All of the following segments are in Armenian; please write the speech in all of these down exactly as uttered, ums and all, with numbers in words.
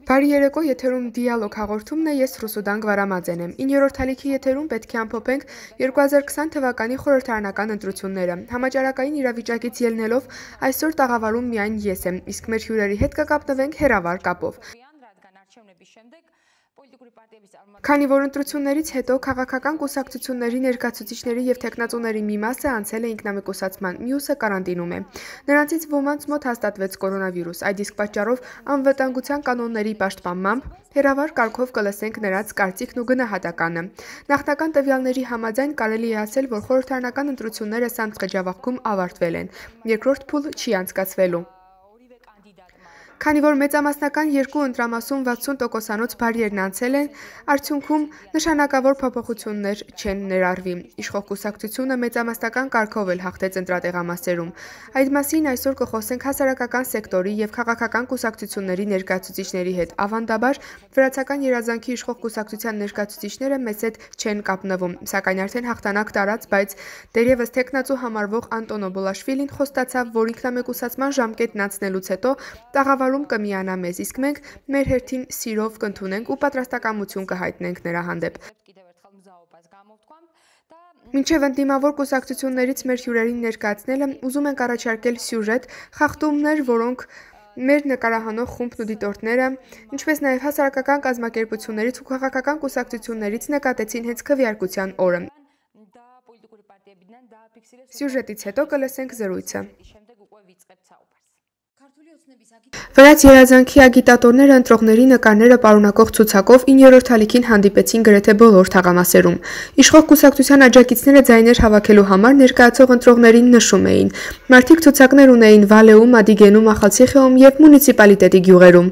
Բարի երեկո, եթերում դիալոգ հաղորդումն է, ես Ռուսուդան Գվարամաձեն եմ։ իններորդ ալիքի եթերում պետք է ամփոփենք երկու հազար քսան թվականի խորհրդարանական ընտրությունները։ Համաճարակային իրավիճակից ելնելով այսօր տաղավարում միայն ես եմ, իսկ մեր հյուրերի հետ կկապնվենք հեռավար կապով։ Քանի որ ընտրություններից հետո քաղաքական կուսակցությունների ներկայացուցիչների եւ թեկնածուների մի մասը անցել է ինքնամեկուսացման, մյուսը կարանտինում է։ Նրանցից ոմանց մոտ հաստատվեց կորոնավիրուս, այդ իսկ պատճառով անվտանգության կանոնների պաշտպանմամբ հեռավար կարգով կլսենք նրանց կարծիքն ու գնահատականը։ Նախնական տվյալների համաձայն կարելի է ասել, որ խորհրդարանական ընտրությունները Սամտ-Խճավախքում ավարտվել են։ Երկրորդ փուլ չի անցկացվելու։ Քանի որ մեծամասնական երկու ընտրամասում վաթսուն տոկոսանոց բարիերն անցել են, արդյունքում նշանակավոր փոփոխություններ չեն ներառվի։ Իշխող կուսակցությունը մեծամասնական կարգով էլ հաղթեց ընտրատեղամասերում։ Այդ մասին այսօր կխոսենք հասարակական սեկտորի եւ քաղաքական կուսակցությունների ներկայացուցիչների հետ։ Ավանդաբար վրացական երազանքի իշխող կուսակցության ներկայացուցիչները մեզ հետ չեն կապնվում, սակայն արդեն հաղթանակ տարած, բայց դերևս թեկնածու համարվող Անտոնո Բոլաշվիլին խոստացավ, որ ինքնամեկուսացման ժամկետն անցնելուց հետո տաղավարում կմիանա մեզ, իսկ մենք մեր հերթին սիրով կընդունենք ու պատրաստակամություն կհայտնենք նրա հանդեպ։ Մինչև ընդդիմավոր կուսակցություններից մեր հյուրերին ներկայացնելը ուզում ենք առաջարկել սյուժետ, խախտումներ, որոնք մեր նկարահանող խումբն ու դիտորդները, ինչպես նաև հասարակական կազմակերպություններից ու քաղաքական կուսակցություններից նկատեցին հենց քվեարկության օրը։ Սյուժետից հետո կլսենք զրույցը։ Վրաց երազանքի ագիտատորները ընտրողների նկարները պարունակող ցուցակով իններորդ ալիքին հանդիպեցին գրեթե բոլոր թաղամասերում։ Իշխող կուսակցության աջակիցները ձայներ հավաքելու համար ներկայացող ընտրողներին նշում էին։ Մարդիկ ցուցակներ ունեին Վալեում, Ադիգենում, Ախալցիխեում եւ մունիցիպալիտետի գյուղերում։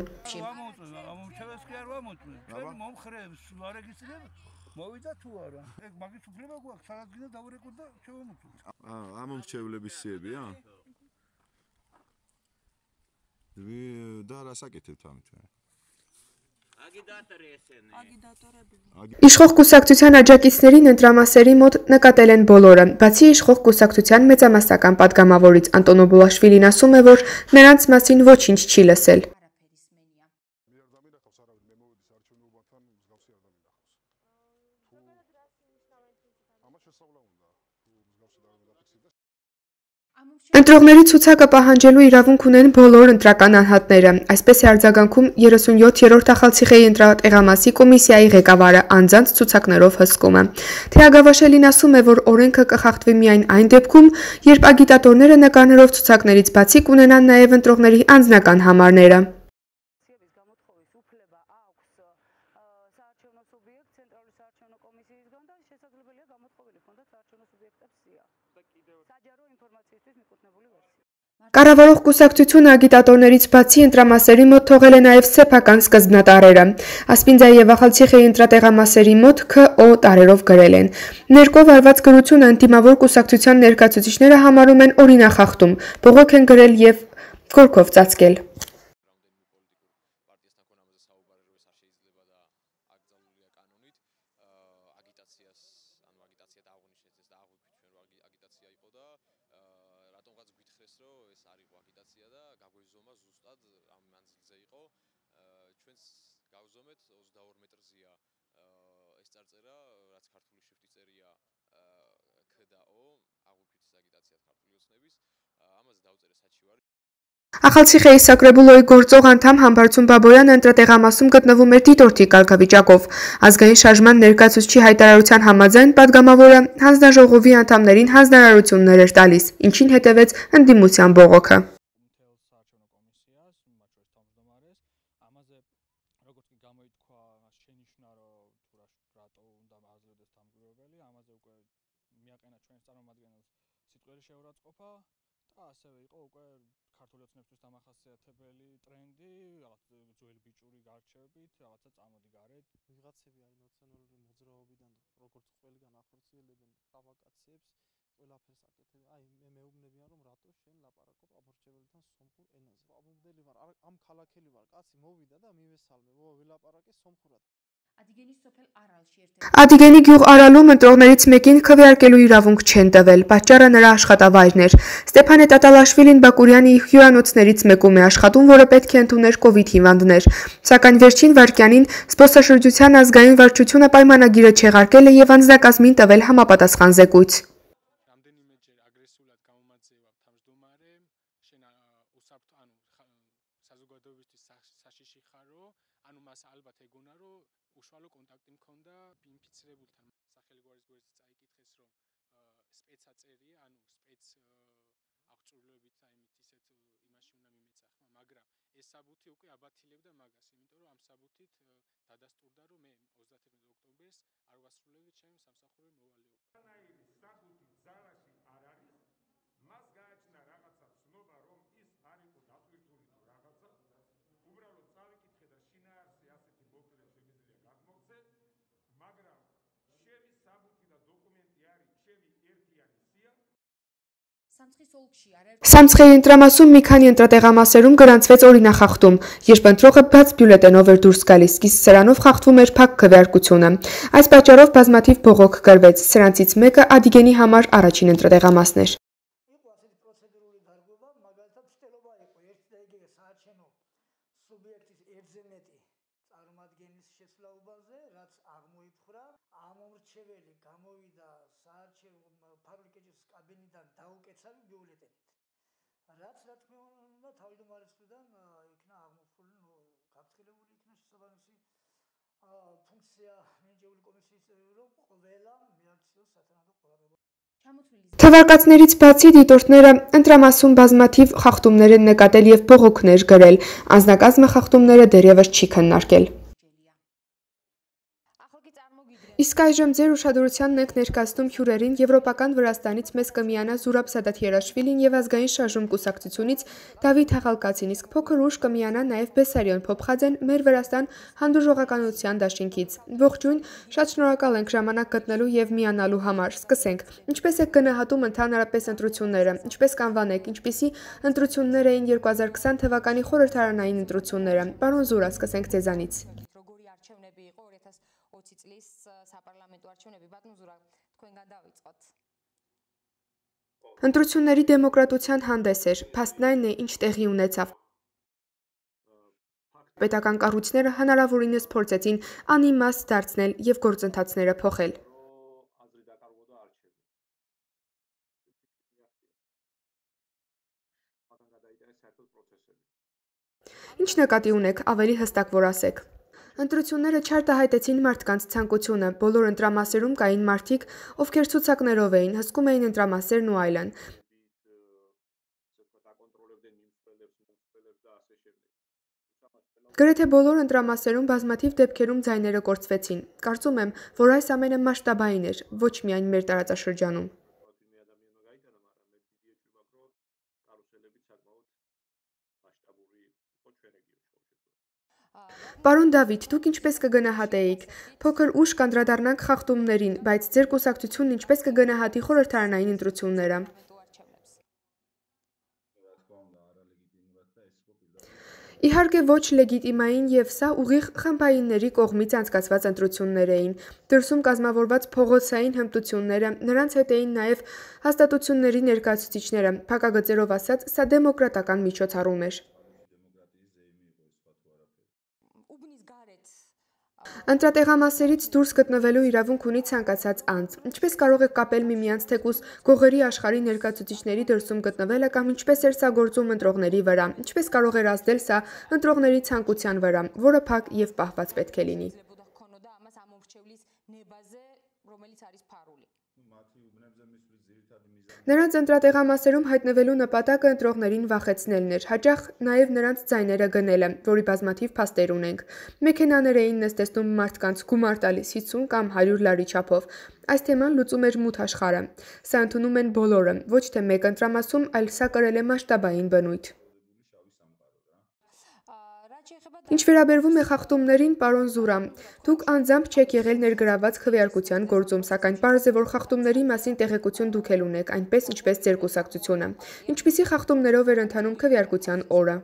Իշխող կուսակցության աջակիցներին ընտրամասերի մոտ նկատել են բոլորը, բացի իշխող կուսակցության մեծամասնական պատգամավորից։ Անտոնո Բոլաշվիլին ասում է, որ նրանց մասին ոչինչ չի լսել։ Ընտրողների ցուցակը պահանջելու իրավունք ունեն բոլոր ընտրական անհատները, այսպես է արձագանքում երեսունյոթերորդ Ախալցիխեի ընտրատեղամասի կոմիսիայի ղեկավարը անձանց ցուցակներով հսկումը։ Թեագավաշելին ասում է, որ օրենքը կխախտվի միայն այն դեպքում, երբ ագիտատորները նկարներով ցուցակներից բացի կունենան նաև ընտրողների անձնական համարները։ Կառավարող կուսակցությունը ագիտատորներից բացի ընտրամասերի մոտ թողել է նաև սեփական սկզբնատառերը։ Ասպինձայի եւ Ախալցիխեի ընտրատեղամասերի մոտ Ք Օ տարերով գրել են։ Ներկով արված գրությունը ընդդիմավոր կուսակցության ներկայացուցիչները համարում են օրինախախտում, բողոք են գրել եւ գորգով ծածկել։ Ախալցիխեի Սակրեբուլոյի գործող անդամ Համբարձում Բաբոյանը ընտրատեղամասում գտնվում էր դիտորդի կարգավիճակով։ Ազգային շարժման ներկայացուցչի հայտարարության համաձայն պատգամավորը հանձնաժողովի անդամներին հանձնարարություններ էր տալիս, ինչին հետևեց ընդդիմության բողոքը։ Ադիգենի գյուղ Արալում ընտրողներից մեկին քվեարկելու իրավունք չեն տվել, պատճառը նրա աշխատավայրն էր։ Ստեփանե Տատալաշվիլին Բակուրյանի հյուրանոցներից մեկում է աշխատում, որը պետք է ընդուներ կովիդ հիվանդներ։ Սակայն վերջին վայրկյանին զբոսաշրջության ազգային վարչությունը պայմանագիրը չեղարկել է եւ անձնակազմին տվել համապատասխան զեկույց։ Սամցխեի ընտրամասում մի քանի ընտրատեղամասերում գրանցվեց օրինախախտում, երբ ընտրողը բաց բյուլետենով էր դուրս գալիս, իսկ սրանով խախտվում էր փակ քվեարկությունը։ Այս պատճառով բազմաթիվ բողոք գրվեց, սրանցից մեկը Ադիգենի համար առաջին ընտրատեղամասն էր։ Թվարկածներից բացի դիտորդները ընտրամասում բազմաթիվ խախտումներ են նկատել եւ բողոքներ գրել, անձնակազմը խախտումները դեռևս չի քննարկել։ Իսկ այժմ ձեր ուշադրությանն ենք ներկայացնում հյուրերին Եվրոպական Վրաստանից մեզ կմիանա Զուրաբ Սադաթիերաշվիլին եւ ազգային շարժում կուսակցությունից Դավիթ Հաղալկացին, իսկ փոքր ուշ կմիանա նաեւ Բեսարիոն Փոփխաձեն մեր Վրաստան հանդուրժողականության դաշինքից։ Ողջույն, շատ շնորհակալ ենք ժամանակ գտնելու եւ միանալու համար։ Սկսենք։ Ինչպես եք գնահատում ընդհանրապես ընտրությունները, ինչպես կանվանեք, ինչպիսի ընտրություններ էին երկու հազար քսան թվականի խորհրդարանային ընտրությունները։ Պարոն Զուրա, սկսենք ձեզանից։ Ընտրությունների դեմոկրատության հանդես էր, փաստն այն է, ինչ տեղի ունեցավ։ Պետական կառույցները հնարավորինս փորձեցին անիմաստ դարձնել եւ գործընթացները փոխել։ Ինչ նկատի ունեք, ավելի հստակ որ ասեք։ Ընտրությունները չարտահայտեցին մարդկանց ցանկությունը, բոլոր ընտրամասերում կային մարդիկ, ովքեր ցուցակներով էին, հսկում էին ընտրամասերն ու այլն։ Գրեթե բոլոր ընտրամասերում բազմաթիվ դեպքերում ձայները կորցվեցին։ Կարծում եմ, որ այս ամենը մասշտաբային էր, ոչ միայն մեր տարածաշրջանում։ Պարոն Դավիթ, դուք ինչպես կգնահատեիք։ Փոքր ուշ կանդրադառնանք խախտումներին, բայց ձեր կուսակցությունն ինչպես կգնահատի խորհրդարանային ընտրությունները։ Իհարկե ոչ լեգիտիմային եւ սա ուղիղ խմբայինների կողմից անցկացված ընտրություններ էին։ Դրսում կազմավորված փողոցային հմտությունները, նրանց հետ էին նաեւ հաստատությունների ներկայացուցիչները, փակագծերով ասած, սա դեմոկրատական միջոցառում էր։ Ընտրատեղամասերից դուրս գտնվելու իրավունք ունի ցանկացած անձ։ Ինչպես կարող եք կապել միմյանց թեկուզ գողերի աշխարհի ներկայացուցիչների դրսում գտնվելը կամ ինչպես էր սա գործում ընտրողների վրա։ Ինչպես կարող էր ազդել սա ընտրողների ցանկության վրա, որը փակ եւ պահված պետք է լինի։ Նրանց ընտրատեղամասերում հայտնվելու նպատակը ընտրողներին վախեցնելն էր, հաճախ նաև նրանց ձայները գնելը, որի բազմաթիվ փաստեր ունենք։ Մեքենաներ էին նստեցնում մարդկանց, գումար տալիս հիսուն կամ հարյուր լարի չափով։ Այս թեման լուծում էր մութ աշխարհը։ Սա ընդունում են բոլորը, ոչ թե մեկ ընտրամասում, այլ սա կրել է մասշտաբային բնույթ։ Ինչ վերաբերվում է խախտումներին, պարոն Զուրա, դուք անձամբ չեք եղել ներգրաված քվեարկության գործում, սակայն պարզ է, որ խախտումների մասին տեղեկություն դուք էլ ունեք, այնպես ինչպես ձեր կուսակցությունը։ Ինչպիսի խախտումներով էր ընթանում քվեարկության օրը։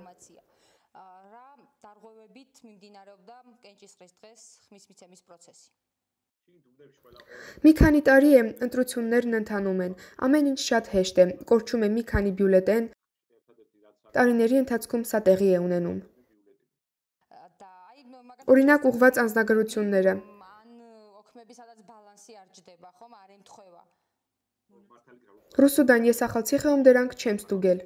Մի քանի տարի է ընտրություններն ընթանում են, ամեն ինչ շատ հեշտ է, կորչում է մի քանի բյուլետեն, տարիների ընթացքում սա տեղի է ունենում։ Օրինակ ուղղված անձնագրությունները։ Ռուսուդան ես ախալցի խեում դրանք չեմ ստուգել։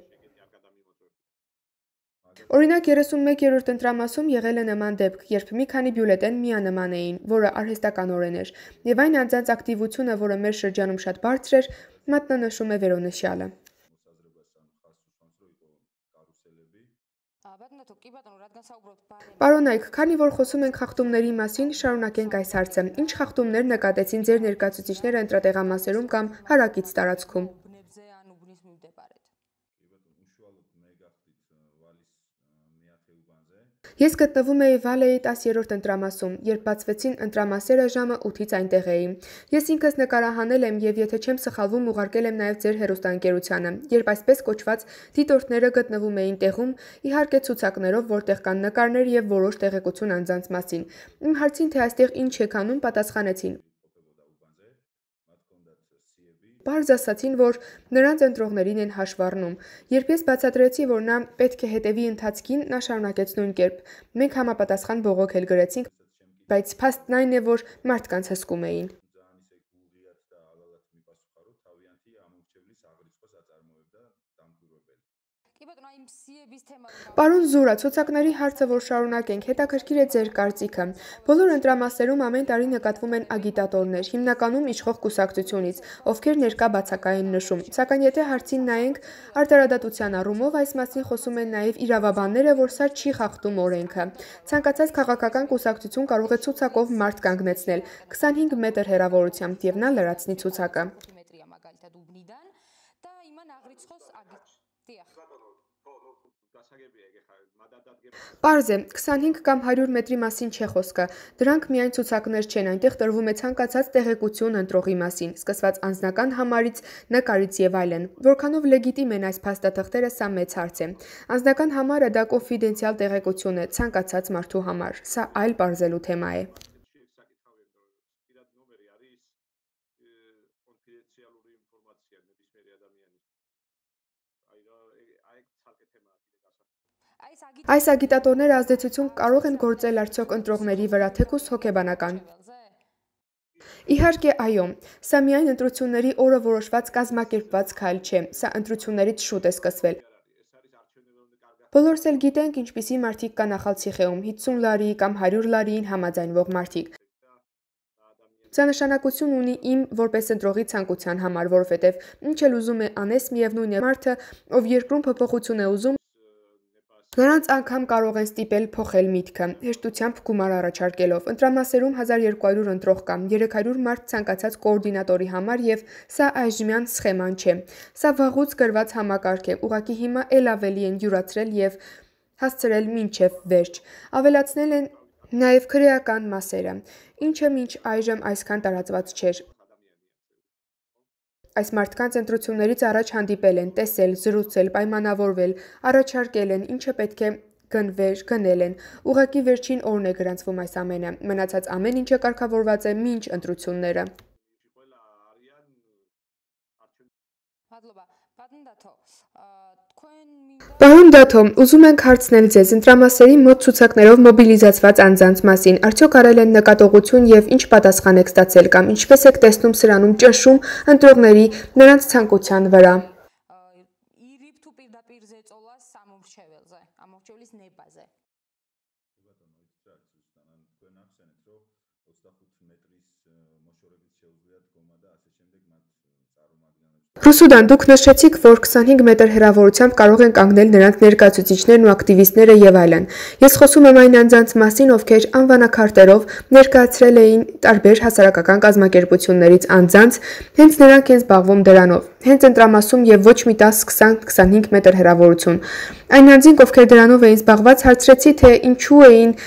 Օրինակ երեսունմեկ երրորդ ընտրամասում եղել է նման դեպք, երբ մի քանի բյուլետեն միանման էին, որը արհեստականորեն էր, եւ այն անձանց ակտիվությունը, որը մեր շրջանում շատ բարձր էր, մատնանշում է վերոնշյալը։ Պարոնայք, քանի որ խոսում ենք խախտումների մասին, շարունակենք այս հարցը։ Ինչ խախտումներ նկատեցին ձեր ներկայացուցիչները ընտրատեղամասերում կամ հարակից տարածքում։ Ես գտնվում էի Վալեի տասերորդ ընտրամասում, երբ բացվեցին ընտրամասերը ժամը ութից այնտեղ էի։ Ես ինքս նկարահանել եմ եւ եթե չեմ սխալվում ուղարկել եմ նաեւ ձեր հեռուստաընկերությանը, երբ այսպես կոչված դիտորդները գտնվում էին տեղում, իհարկե ցուցակներով, որտեղ կան նկարներ եւ որոշ տեղեկություն անձանց մասին։ Իմ հարցին, թե այստեղ ինչ եք անում, պատասխանեցին։ Պարզ ասացին, որ նրանց ընտրողներին են հաշվառնում։ Երբ ես բացատրեցի, որ նա պետք է հետևի ընթացքին, նա շարունակեց նույն կերպ։ Մենք համապատասխան բողոք էլ գրեցինք, բայց փաստն այն է, որ մարդկանց հսկում էին։ Պարոն Զուրա, ցուցակների հարցը, որ շարունակենք, հետաքրքիր է ձեր կարծիքը։ Բոլոր ընտրամասերում ամեն տարի նկատվում են ագիտատորներ, հիմնականում իշխող կուսակցությունից, ովքեր ներկա բացակայ են նշում։ Սակայն եթե հարցին նայենք, արտարադատության առումով այս մասին խոսում են նաև իրավաբանները, որ սա չի խախտում օրենքը։ Ցանկացած քաղաքական կուսակցություն կարող է ցուցակով մարդ կանգնեցնել քսանհինգ մետր հեռավորությամբ եւ նա լրացնի ցուցակը։ Պարզ է, քսանհինգ կամ հարյուր մետրի մասին չէ խոսքը, դրանք միայն ցուցակներ չեն, այնտեղ տրվում է ցանկացած տեղեկություն ընտրողի մասին, սկսված անձնական համարից, նկարից եւ այլն։ Որքանով լեգիտիմ են այս փաստաթղթերը, սա մեծ հարց է։ Անձնական համարը դա կոնֆիդենցիալ տեղեկություն է, ցանկացած մարդու համար, սա այլ պարզելու թեմա է։ Այս ագիտատորները ազդեցություն կարող են գործել արդյոք ընտրողների վրա, թեկուզ հոգեբանական։ Իհարկե, այո, սա միայն ընտրությունների օրը որոշված կազմակերպված քայլ չէ, սա ընտրություններից շուտ է սկսվել։ Բոլորս էլ գիտենք, ինչպիսի մարդիկ կան Ախալցիխեում, հիսուն լարի կամ հարյուր լարիին համաձայնվող մարդիկ։ Սա նշանակություն ունի իմ որպես ընտրողի ցանկության համար, որովհետև ինչ էլ ուզում է անես, միևնույն է մարդը, ով երկրում փոփոխություն է ուզում, նրանց անգամ կարող են ստիպել փոխել միտքը, հեշտությամբ գումար առաջարկելով։ Ընտրամասերում հազար երկու հարյուր ընտրող կա, երեք հարյուր մարդ ցանկացած կոորդինատորի համար եւ սա այժմյան սխեման չէ։ Սա վաղուց գրված համակարգ է, ուղղակի հիմա ել ավելի են յուրացրել եւ հասցրել մինչեւ վերջ։ Ավելացնել են նաեւ քրեական մասերը, ինչը մինչ այժմ այսքան տարածված չէր։ Այս մարդկանց ընտրություններից առաջ հանդիպել են, տեսել, զրուցել, պայմանավորվել, առաջարկել են, ինչը պետք է գնվեր, գնել են։ Ուղղակի վերջին օրն է գրանցվում այս ամենը։ Մնացած ամեն ինչը կարգավորված է մինչ ընտրությունները։ Պարոն Դաթո, ուզում ենք հարցնել ձեզ ընտրամասերի մոտ ցուցակներով մոբիլիզացված անձանց մասին, արդյոք արել են նկատողություն եւ ինչ պատասխան եք ստացել կամ ինչպես եք տեսնում սրանում ճնշում ընտրողների նրանց ցանկության վրա։ Ռուսուդան, դուք նշեցիք, որ քսանհինգ մետր հեռավորությամբ կարող են կանգնել նրանց ներկայացուցիչներն ու ակտիվիստները եւ այլն։ Ես խոսում եմ այն անձանց մասին, ովքեր անվանակարտերով ներկայացրել էին տարբեր հասարակական կազմակերպություններից անձանց, հենց նրանք են զբաղվում դրանով, հենց ընտրամասում եւ ոչ մի տաս քսան քսանհինգ մետր հեռավորություն։ Այն անձինք, ովքեր դրանով էին զբաղված, հարցրեցի, թե ինչու էին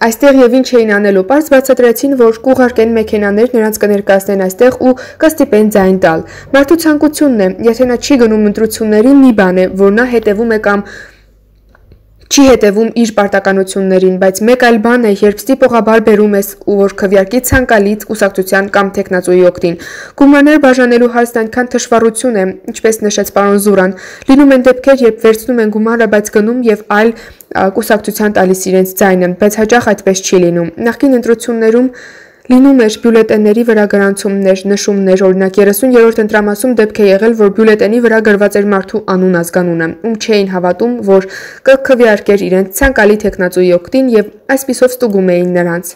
այստեղ եւ ինչ էին անելու, պարզ բացատրեցին, որ կուղարկեն մեքենաներ, նրանց կներկայացնեն այստեղ ու կստիպեն ձայն տալ։ Մարդու ցանկությունն է, եթե նա չի գնում ընտրությունների, մի բան է, որ նա հետևում է կամ չի հետևում իր պարտականություններին, բայց մեկ այլ բան է, երբ ստիպողաբար բերում ես ու որ քվեարկի ցանկալի կուսակցության կամ տեխնացուի օգտին։ Գումարներ բաժանելու հարցն այնքան թշվառություն է, ինչպես նշեց պարոն Զուրան։ Լինում են դեպքեր, երբ վերցնում են գումարը, բայց գնում եւ այլ կուսակցության տալիս իրենց ձայնը, բայց հաճախ այդպես չի լինում։ Նախկին ընտրություններում լինում էր բյուլետենների վրա գրանցումներ, նշումներ, օրինակ երեսուներորդ ընտրամասում դեպք է եղել, որ բյուլետենի վրա գրված էր մարդու անուն ազգանունը, ում չէին հավատում, որ կքվեարկեր իրենց ցանկալի տեխնացուի օգտին եւ այսպիսով ստուգում էին նրանց։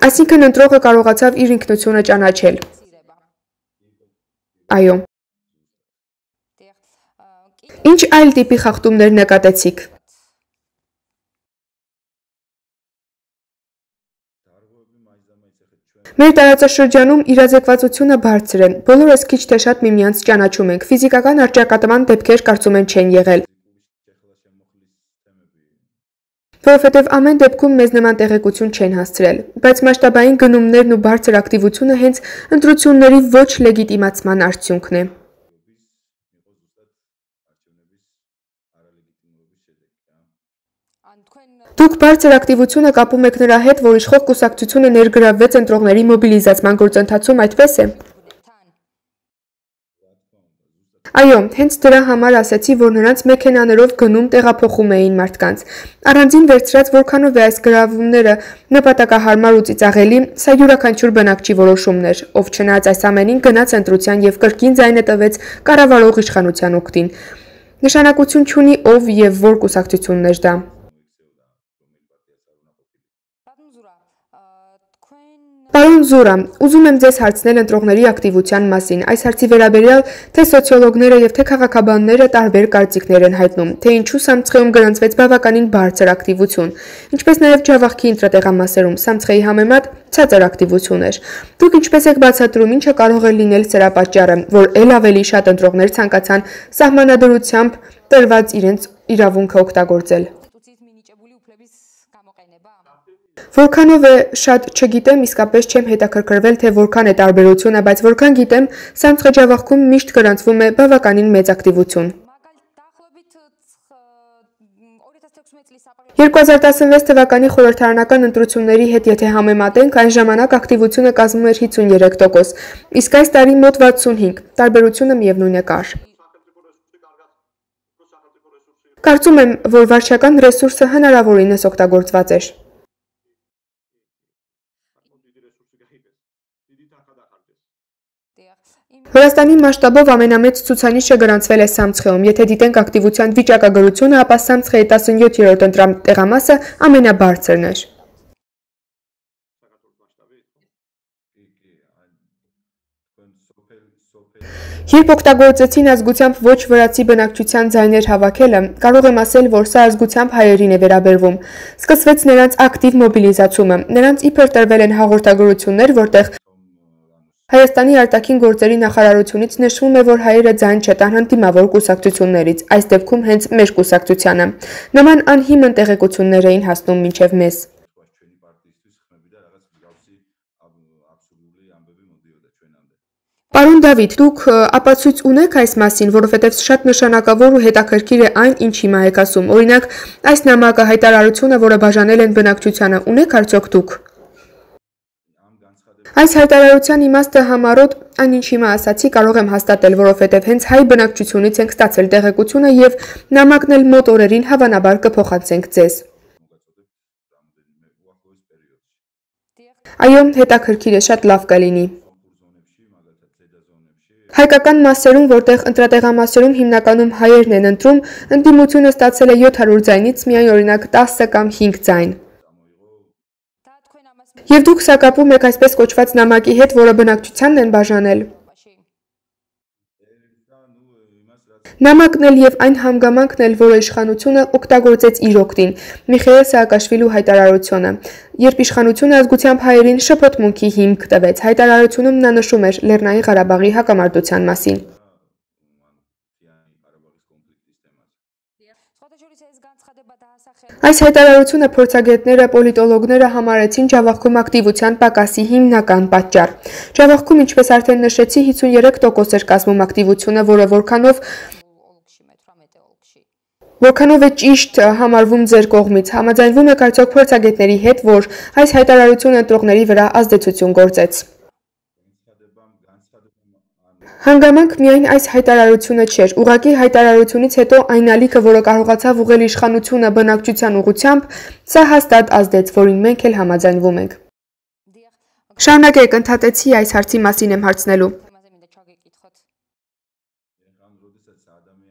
Այսինքն ընտրողը կարողացավ իր ինքնությունը ճանաչել։ Այո։ Ինչ այլ տիպի խախտումներ նկատեցիք։ Մեր տարածաշրջանում իրազեկվածությունը բարձր է։ Բոլորս քիչ թե շատ միմյանց ճանաչում ենք։ Ֆիզիկական առճակատման դեպքեր կարծում եմ չեն եղել։ Որովհետև ամեն դեպքում մեզ նման տեղեկություն չեն հասցրել, բայց մասշտաբային գնումներն ու բարձր ակտիվությունը հենց ընտրությունների ոչ լեգիտիմացման արդյունքն է։ Դուք բարձր ակտիվությունը կապում եք նրա հետ, որ իշխող կուսակցությունը ներգրավվեց ընտրողների մոբիլիզացման գործընթացում, այդպես է։ Այո, հենց դրա համար ասացի, որ նրանց մեքենաներով գնում տեղափոխում էին մարդկանց։ Առանձին վերցրած որքանով է այս գրավումները նպատակահարմար ու ծիծաղելի, սա յուրաքանչյուր բնակչի որոշումն էր, ով չնայած այս ամենին գնաց ընտրության եւ կրկին ձայնը տվեց կառավարող իշխանության օգտին։ Նշանակություն չունի ով եւ որ կուսակցությունն էր դա։ Պարոն Զուրա, ուզում եմ ձեզ հարցնել ընտրողների ակտիվության մասին։ Այս հարցի վերաբերյալ թե սոցիոլոգները եւ թե քաղաքաբանները տարբեր կարծիքներ են հայտնում, թե ինչու Սամցխեում գրանցվեց բավականին բարձր ակտիվություն, ինչպես նաեւ Ջավախքի ընտրատեղամասերում Սամցխեի համեմատ ցածր ակտիվություն էր։ Դուք ինչպես եք բացատրում, ինչը կարող է լինել սրա պատճառը, որ ել ավելի շատ ընտրողներ ցանկացան սահմանադրությամբ տրված իրենց իրավունքը օգտագործել։ Որքանով է շատ չգիտեմ, իսկապես չեմ հետաքրքրվել, թե որքան է տարբերությունը, բայց որքան գիտեմ, Սամցխե Ջավախքում միշտ գրանցվում է բավականին մեծ ակտիվություն։ երկու հազար տասնվեց թվականի խորհրդարանական ընտրությունների հետ եթե համեմատենք, այն ժամանակ ակտիվությունը կազմում էր հիսունյոթ տոկոս, իսկ այս տարի մոտ վաթսունհինգ, տարբերությունը միևնույն է կար։ Կարծում եմ, որ վարչական ռեսուրսը հնարավորինս օգտագործված էր։ Վրաստանի մասշտաբով ամենամեծ ցուցանիշը գրանցվել է Սամցխեում, եթե դիտենք ակտիվության վիճակագրությունը, ապա Սամցխեի տասնյոթերորդ ընտրատեղամասը ամենաբարձրն էր։ Երբ օգտագործեցին ազգությամբ ոչ վրացի բնակչության ձայներ հավաքելը, կարող եմ ասել, որ սա ազգությամբ հայերին է վերաբերվում։ Սկսվեց նրանց ակտիվ մոբիլիզացումը, նրանց իբր տրվել են հաղորդագրություններ, որտեղ Հայաստանի արտաքին գործերի նախարարությունից նշվում է, որ հայերը ձայն չտան հանդիմավոր կուսակցություններից, այս դեպքում հենց մեր կուսակցությանը։ Նման անհիմն տեղեկություններ էին հասնում մինչև մեզ։ Պարոն Դավիթ, դուք ապացույց ունեք այս մասին, որովհետև շատ նշանակավոր ու հետաքրքիր է այն, ինչ հիմա եք ասում։ Օրինակ, այս նամակը հայտարարությունը, որը բաժանել են բնակչությանը, ունեք արդյոք դուք։ Այս հայտարարության իմաստը համառոտ այն ինչ հիմա ասացի կարող եմ հաստատել, որովհետև հենց հայ բնակչությունից ենք ստացել տեղեկությունը եւ նամակն էլ մոտ օրերին հավանաբար կփոխանցենք ձեզ։ Այո, հետաքրքիր է, շատ լավ կլինի։ Հայկական մասերում, որտեղ ընտրատեղամասերում հիմնականում հայերն են ընտրում, ընդդիմությունը ստացել է յոթ հարյուր ձայնից միայն օրինակ տասը կամ հինգ ձայն։ Եվ դուք սա կապում եք այսպես կոչված նամակի հետ, որը բնակչությանն են բաժանել։ Նամակն էլ եւ այն հանգամանքն էլ, որը իշխանությունը օգտագործեց իր օգտին, Միխայել Սաակաշվիլու հայտարարությունը, երբ իշխանությունը ազգությամբ հայերին շփոթմունքի հիմք տվեց, հայտարարությունում նա նշում էր Լեռնային Ղարաբաղի հակամարտության մասին։ Այս հայտարարությունը փորձագետները, պոլիտոլոգները համարեցին ջավախքում ակտիվության պակասի հիմնական պատճառ։ Ջավախքում, ինչպես արդեն նշեցի, հիսունյոթ տոկոս էր կազմում ակտիվությունը, որը որքանով Որքանով է ճիշտ համարվում ձեր կողմից, համաձայնվում եք արդյոք փորձագետների հետ, որ այս հայտարարությունը ընտրողների վրա ազդեցություն գործեց։ Հանգամանք միայն այս հայտարարությունը չէր, ուղղակի հայտարարությունից հետո այն ալիքը, որը կարողացավ ուղղել իշխանությունը բնակչության ուղղությամբ, սա հաստատ ազդեց, որին մենք էլ համաձայնվում ենք։ Շարունակեք, ընդհատեցի այս հարցի մասին եմ հարցնելու։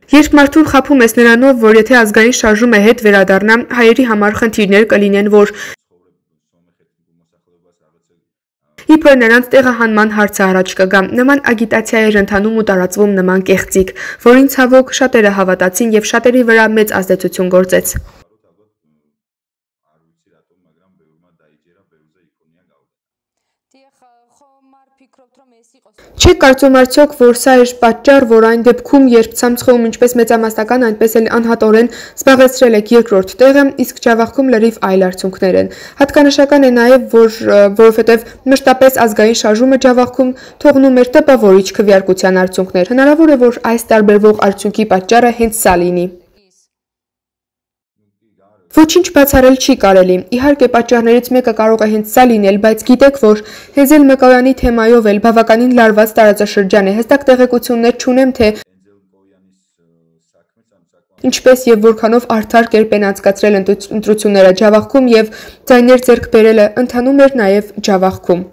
Երբ մարդուն խաբում ես նրանով, որ եթե ազգային շարժումը հետ վերադառնա, հայերի համար խնդիրներ կլինեն, որ իբր նրանց տեղահանման հարցը առաջ կգա, նման ագիտացիա էր ընթանում ու տարածվում նման կեղծիք, որին ցավոք շատերը հավատացին եւ շատերի վրա մեծ ազդեցություն գործեց։ Չեք կարծում արդյոք, որ սա էր պատճառ, որ այն դեպքում, երբ ցամցխում ինչպես մեծամասնական, այնպես էլ անհատորեն զբաղեցրել եք երկրորդ տեղը, իսկ ջավախքում լրիվ այլ արդյունքներ են։ Հատկանշական է նաև, որ որովհետև մշտապես ազգային շարժումը ջավախքում թողնում էր տպավորիչ քվեարկության արդյունքներ։ Հնարավոր է, որ այս տարբերվող արդյունքի պատճառը հենց սա լինի։ Ոչինչ բացառել չի կարելի։ Իհարկե, պատճառներից մեկը կարող է հենց սա լինել, բայց գիտեք, որ Հեզել Մկոյանի թեմայով էլ բավականին լարված տարածաշրջան է։ Հստակ տեղեկություններ չունեմ, թե ինչպես եւ որքանով արդար կերպ են անցկացրել ընտրությունները ջավախքում եւ ձայներ ձեռք բերելը ընթանում էր նաեւ ջավախքում։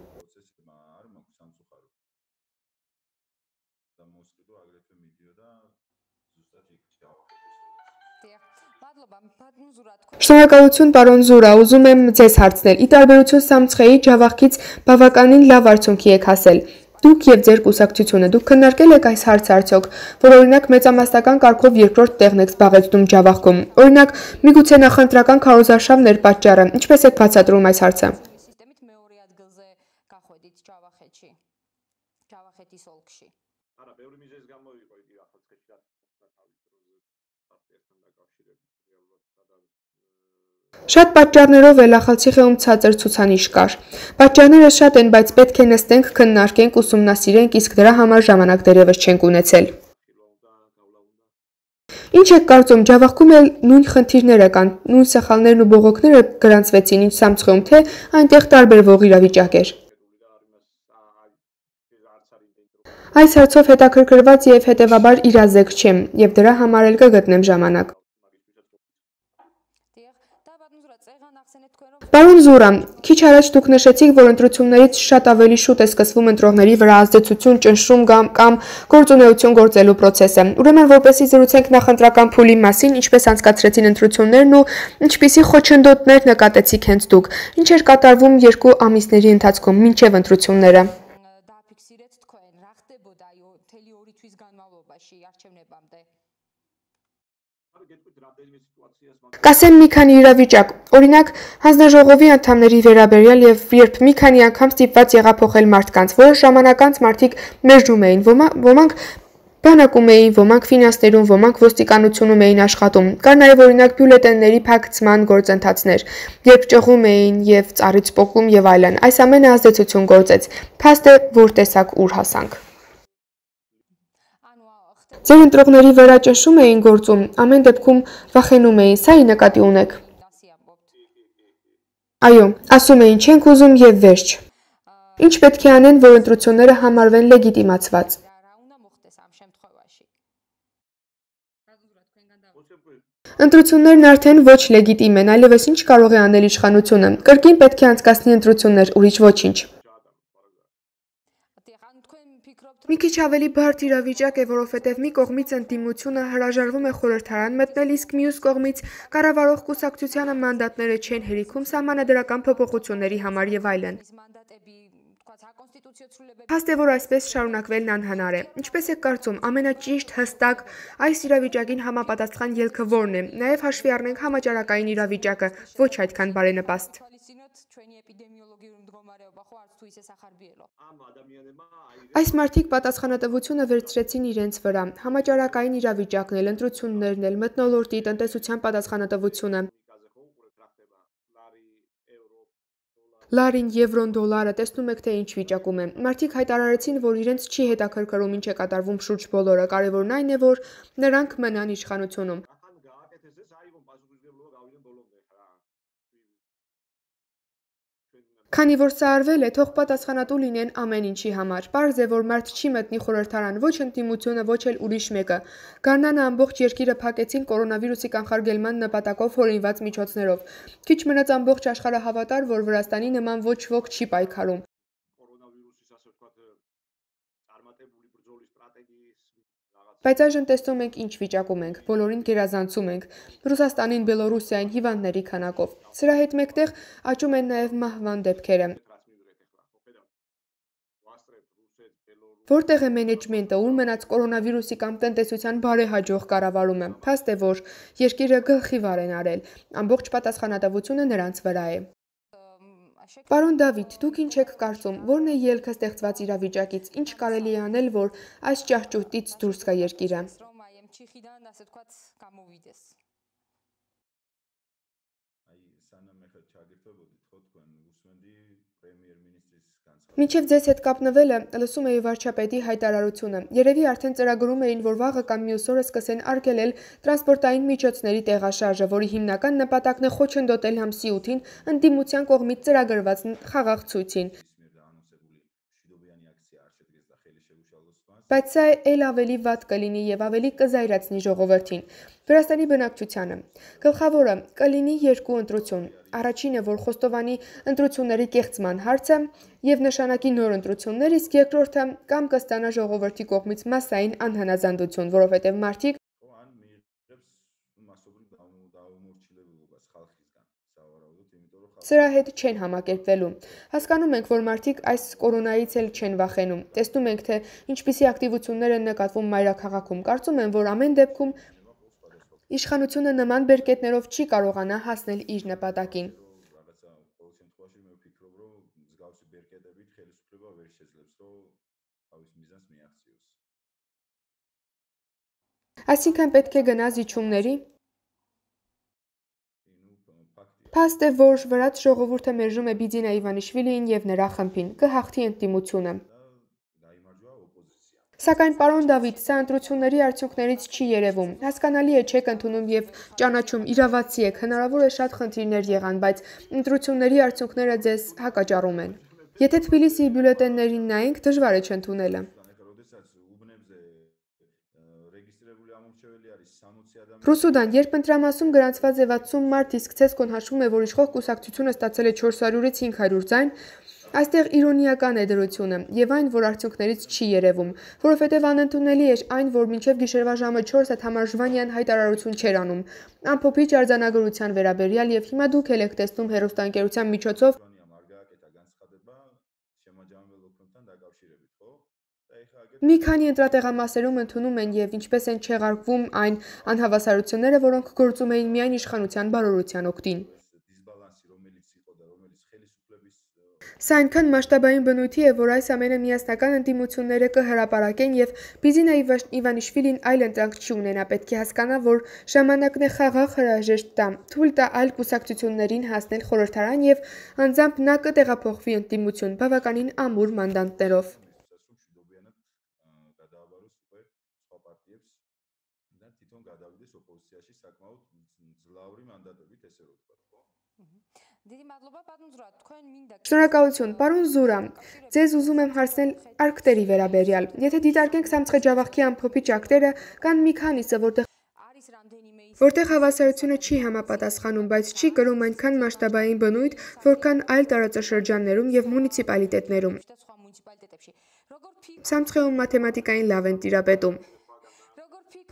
Շնորհակալություն, պարոն Զուրա, ուզում եմ ձեզ հարցնել։ Ի տարբերություն Սամցխեի, ջավախքից բավականին լավ արդյունքի եք հասել։ Դուք եւ ձեր կուսակցությունը, դուք քննարկել եք այս հարցը արդյոք, որ օրինակ մեծամասնական կարգով երկրորդ տեղն եք զբաղեցնում ջավախքում։ Օրինակ, միգուցե նախընտրական քարոզարշավն էր պատճառը։ Ինչպես եք բացատրում այս հարցը։ Շատ պատճառներով էլ Ախալցիխեում ցածր ցուցանիշ կար։ Պատճառները շատ են, բայց պետք է նստենք, քննարկենք, ուսումնասիրենք, իսկ դրա համար ժամանակ դեռևս չենք ունեցել։ Ինչ եք կարծում, ջավախքում էլ նույն խնդիրները կան, նույն սխալներն ու բողոքները գրանցվեցին, ինչ Սամցխեում, թե այնտեղ տարբերվող իրավիճակ էր։ Այս հարցով հետաքրքրված եւ հետեւաբար իրազեկ չեմ, եւ դրա համար էլ կգտնեմ ժամանակ։ Պարոն Զուրա, քիչ առաջ դուք նշեցիք, որ ընտրություններից շատ ավելի շուտ է սկսվում ընտրողների վրա ազդեցություն, ճնշում կամ գործունեություն գործելու process-ը։ Ուրեմն, որպեսզի զրուցենք նախընտրական փուլի մասին, ինչպես անցկացրեցին ընտրություններն ու ինչպիսի խոչընդոտներ նկատեցիք հենց դուք։ Ինչ էր կատարվում երկու ամիսների ընթացքում մինչև ընտրությունները։ Կասեմ մի քանի իրավիճակ, օրինակ հանձնաժողովի անդամների վերաբերյալ եւ երբ մի քանի անգամ ստիպված եղա փոխել մարդկանց, որոշ ժամանակ անց մարդիկ մերժում էին, ոմանք բանակում էին, ոմանք ֆինանսներում, ոմանք ոստիկանությունում էին աշխատում։ Կար նաեւ օրինակ բյուլետենների փակցման գործընթացներ, երբ ճղում էին եւ ծառից պոկում եւ այլն։ Այս ամենը ազդեցություն գործեց։ Փաստ է, որ տեսակ ուր հասանք։ Ձեր ընտրողների վրա ճնշում էին գործում, ամեն դեպքում վախենում էին, սա ի նկատի ունեք։ Այո, ասում էին չենք ուզում եւ վերջ։ Ինչ պետք է անեն, որ ընտրությունները համարվեն լեգիտիմացված։ Ընտրություններն արդեն ոչ լեգիտիմ են, այլևս ինչ կարող է անել իշխանությունը։ Կրկին պետք է անցկացնի ընտրություններ, ուրիշ ոչինչ։ Մի քիչ ավելի բարդ իրավիճակ է, որովհետև մի կողմից ընդդիմությունը հրաժարվում է խորհրդարան մտնել, իսկ մյուս կողմից կառավարող կուսակցությանը մանդատները չեն հերիքում սահմանադրական փոփոխությունների համար եւ այլն։ Փաստ է, որ այսպես շարունակվելն անհնար է։ Ինչպես եք կարծում, ամենաճիշտ, հստակ այս իրավիճակին համապատասխան ելքը որն է։ Նաև հաշվի առնենք համաճարակային իրավիճակը, ոչ այդքան բարենպաստ։ Այս մարդիկ պատասխանատվությունը վերցրեցին իրենց վրա, համաճարակային իրավիճակն էլ, ընտրություններն էլ, մթնոլորտի, տնտեսության պատասխանատվությունը։ Լարին, եվրոն, դոլարը տեսնում եք, թե ինչ վիճակում է։ Մարդիկ հայտարարեցին, որ իրենց չի հետաքրքրում ինչ է կատարվում շուրջ բոլորը, կարևորն այն է, որ նրանք մնան իշխանությունում։ Քանի որ սա արվել է, թող պատասխանատու լինեն ամեն ինչի համար։ Պարզ է, որ մարդ չի մտնի խորհրդարան, ոչ ընդդիմությունը, ոչ էլ ուրիշ մեկը։ Գարնանը ամբողջ երկիրը փակեցին կորոնավիրուսի կանխարգելման նպատակով հորինված միջոցներով։ Քիչ մնաց ամբողջ աշխարհը հավատար, որ Վրաստանի նման ոչ ոք չի պայքարում։ Բայց այժմ տեսնում ենք ինչ վիճակում ենք, բոլորին գերազանցում ենք, Ռուսաստանին, Բելորուսիային, հիվանդների քանակով։ Սրա հետ մեկտեղ աճում են նաև մահվան դեպքերը։ Որտեղ է մենեջմենտը, ուր մնաց կորոնավիրուսի կամ տնտեսության բարեհաջող կառավարումը։ Փաստ է, որ երկիրը գլխի վար են արել, ամբողջ պատասխանատվությունը նրանց վրա է։ Պարոն Դավիթ, դուք ինչ եք կարծում, ո՞րն է ելքը ստեղծված իրավիճակից, ինչ կարելի է անել, որ այս ճահճուտից դուրս գա երկիրը։ Մինչև ձեզ հետ կապնվելը լսում էի վարչապետի հայտարարությունը։ Երևի արդեն ծրագրում էին, որ վաղը կամ մյուս օրը սկսեն արգելել տրանսպորտային միջոցների տեղաշարժը, որի հիմնական նպատակն է խոչընդոտել ամսի ութին ընդդիմության կողմից ծրագրված խաղաղ ցույցին։ Բայց սա էլ ավելի վատ կլինի եւ ավելի կզայրացնի ժողովրդին։ Վրաստանի բնակչությանը։ Գլխավորը կլինի երկու ընտրություն։ Առաջինը, որ խոստովանի ընտրությունների կեղծման հարցը եւ նշանակի նոր ընտրություններ, իսկ երկրորդը կամ կստանա ժողովրդի կողմից մասսային անհանազանդություն, որովհետեւ մարդիկ սրա հետ չեն համակերպվելու։ Հասկանում ենք, որ մարդիկ այս կորոնայից էլ չեն վախենում։ Տեսնում ենք, թե ինչպիսի ակտիվություններ են նկատվում մայրաքաղաքում։ Կարծում եմ, որ ամեն դեպքում իշխանությունը նման բերկետներով չի կարողանա հասնել իր նպատակին։ Այսինքն պետք է գնա զիջումների։ Փաստ է, որ վրաց ժողովուրդը մերժում է Բիձինա Իվանիշվիլիին եւ նրա խմբին, կհաղթի ընդդիմությունը։ Սակայն պարոն Դավիթ, սա ընտրությունների արդյունքներից չի երևում։ Հասկանալի է, չեք ընդունում եւ ճանաչում, իրավացի եք, հնարավոր է շատ խնդիրներ եղան, բայց ընտրությունների արդյունքները ձեզ հակաճառում են։ Եթե Թբիլիսիի բյուլետեններին նայենք, դժվար է չընդունելը։ Ռուսուդան, երբ ընտրամասում գրանցված է վաթսուն մարդ, իսկ ցեսկոն հաշվում է, որ իշխող կուսակցությունը ստացել է չորս հարյուրից հինգ հարյուր ձայն, այստեղ իրոնիական է դրությունը եւ այն, որ արդյունքներից չի երևում, որովհետեւ անընդունելի էր այն, որ մինչեւ գիշերվա ժամը չորսը Թամար Ժվանյան հայտարարություն չէր անում ամփոփիչ արձանագրության վերաբերյալ եւ հիմա դուք էլ եք տեսնում հեռուստաընկերության միջոցով մի քանի ընտրատեղամասերում ընդունում են եւ ինչպես են չեղարկվում այն անհավասարությունները, որոնք գործում էին միայն իշխանության բարօրության օգտին։ Սա այնքան մասշտաբային բնույթի է, որ այս ամենը միասնական ընդդիմությունները կհրապարակեն եւ Բիձինա Իվանիշվիլին այլ ընտրանք չի ունենա, պետք է հասկանա, որ ժամանակն է խաղաղ հրաժեշտ տա, թույլ տա այլ կուսակցություններին հասնել խորհրդարան եւ անձամբ նա կտեղափոխվի ընդդիմություն բավականին ամուր մանդատներով։ Շնորհակալություն, պարոն Զուրա, ձեզ ուզում եմ հարցնել արկտերի վերաբերյալ։ Եթե դիտարկենք Սամցխեջավախքի ամփոփիչ ակտերը, կան մի քանիսը, որտեղ որտեղ հավասարությունը չի համապատասխանում, բայց չի կրում այնքան մասշտաբային բնույթ, որքան այլ տարածաշրջաններում եւ մունիցիպալիտետներում։ Սամցխեում մաթեմատիկային լավ են տիրապետում։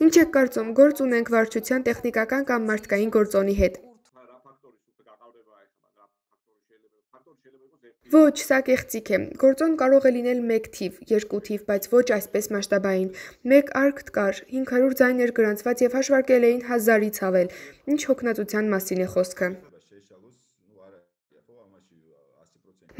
Ինչ եք կարծում, գործ ունենք վարչության տեխնիկական կամ մարդկային գործոնի հետ։ Ոչ, սա կեղծիք է։ Գործոն կարող է լինել մեկ թիվ, երկու թիվ, բայց ոչ այսպես մասշտաբային։ Մեկ արկտ կար, հինգ հարյուր ձայն էր գրանցված եւ հաշվարկել էին հազարից ավել։ Ինչ հոգնածության մասին է խոսքը։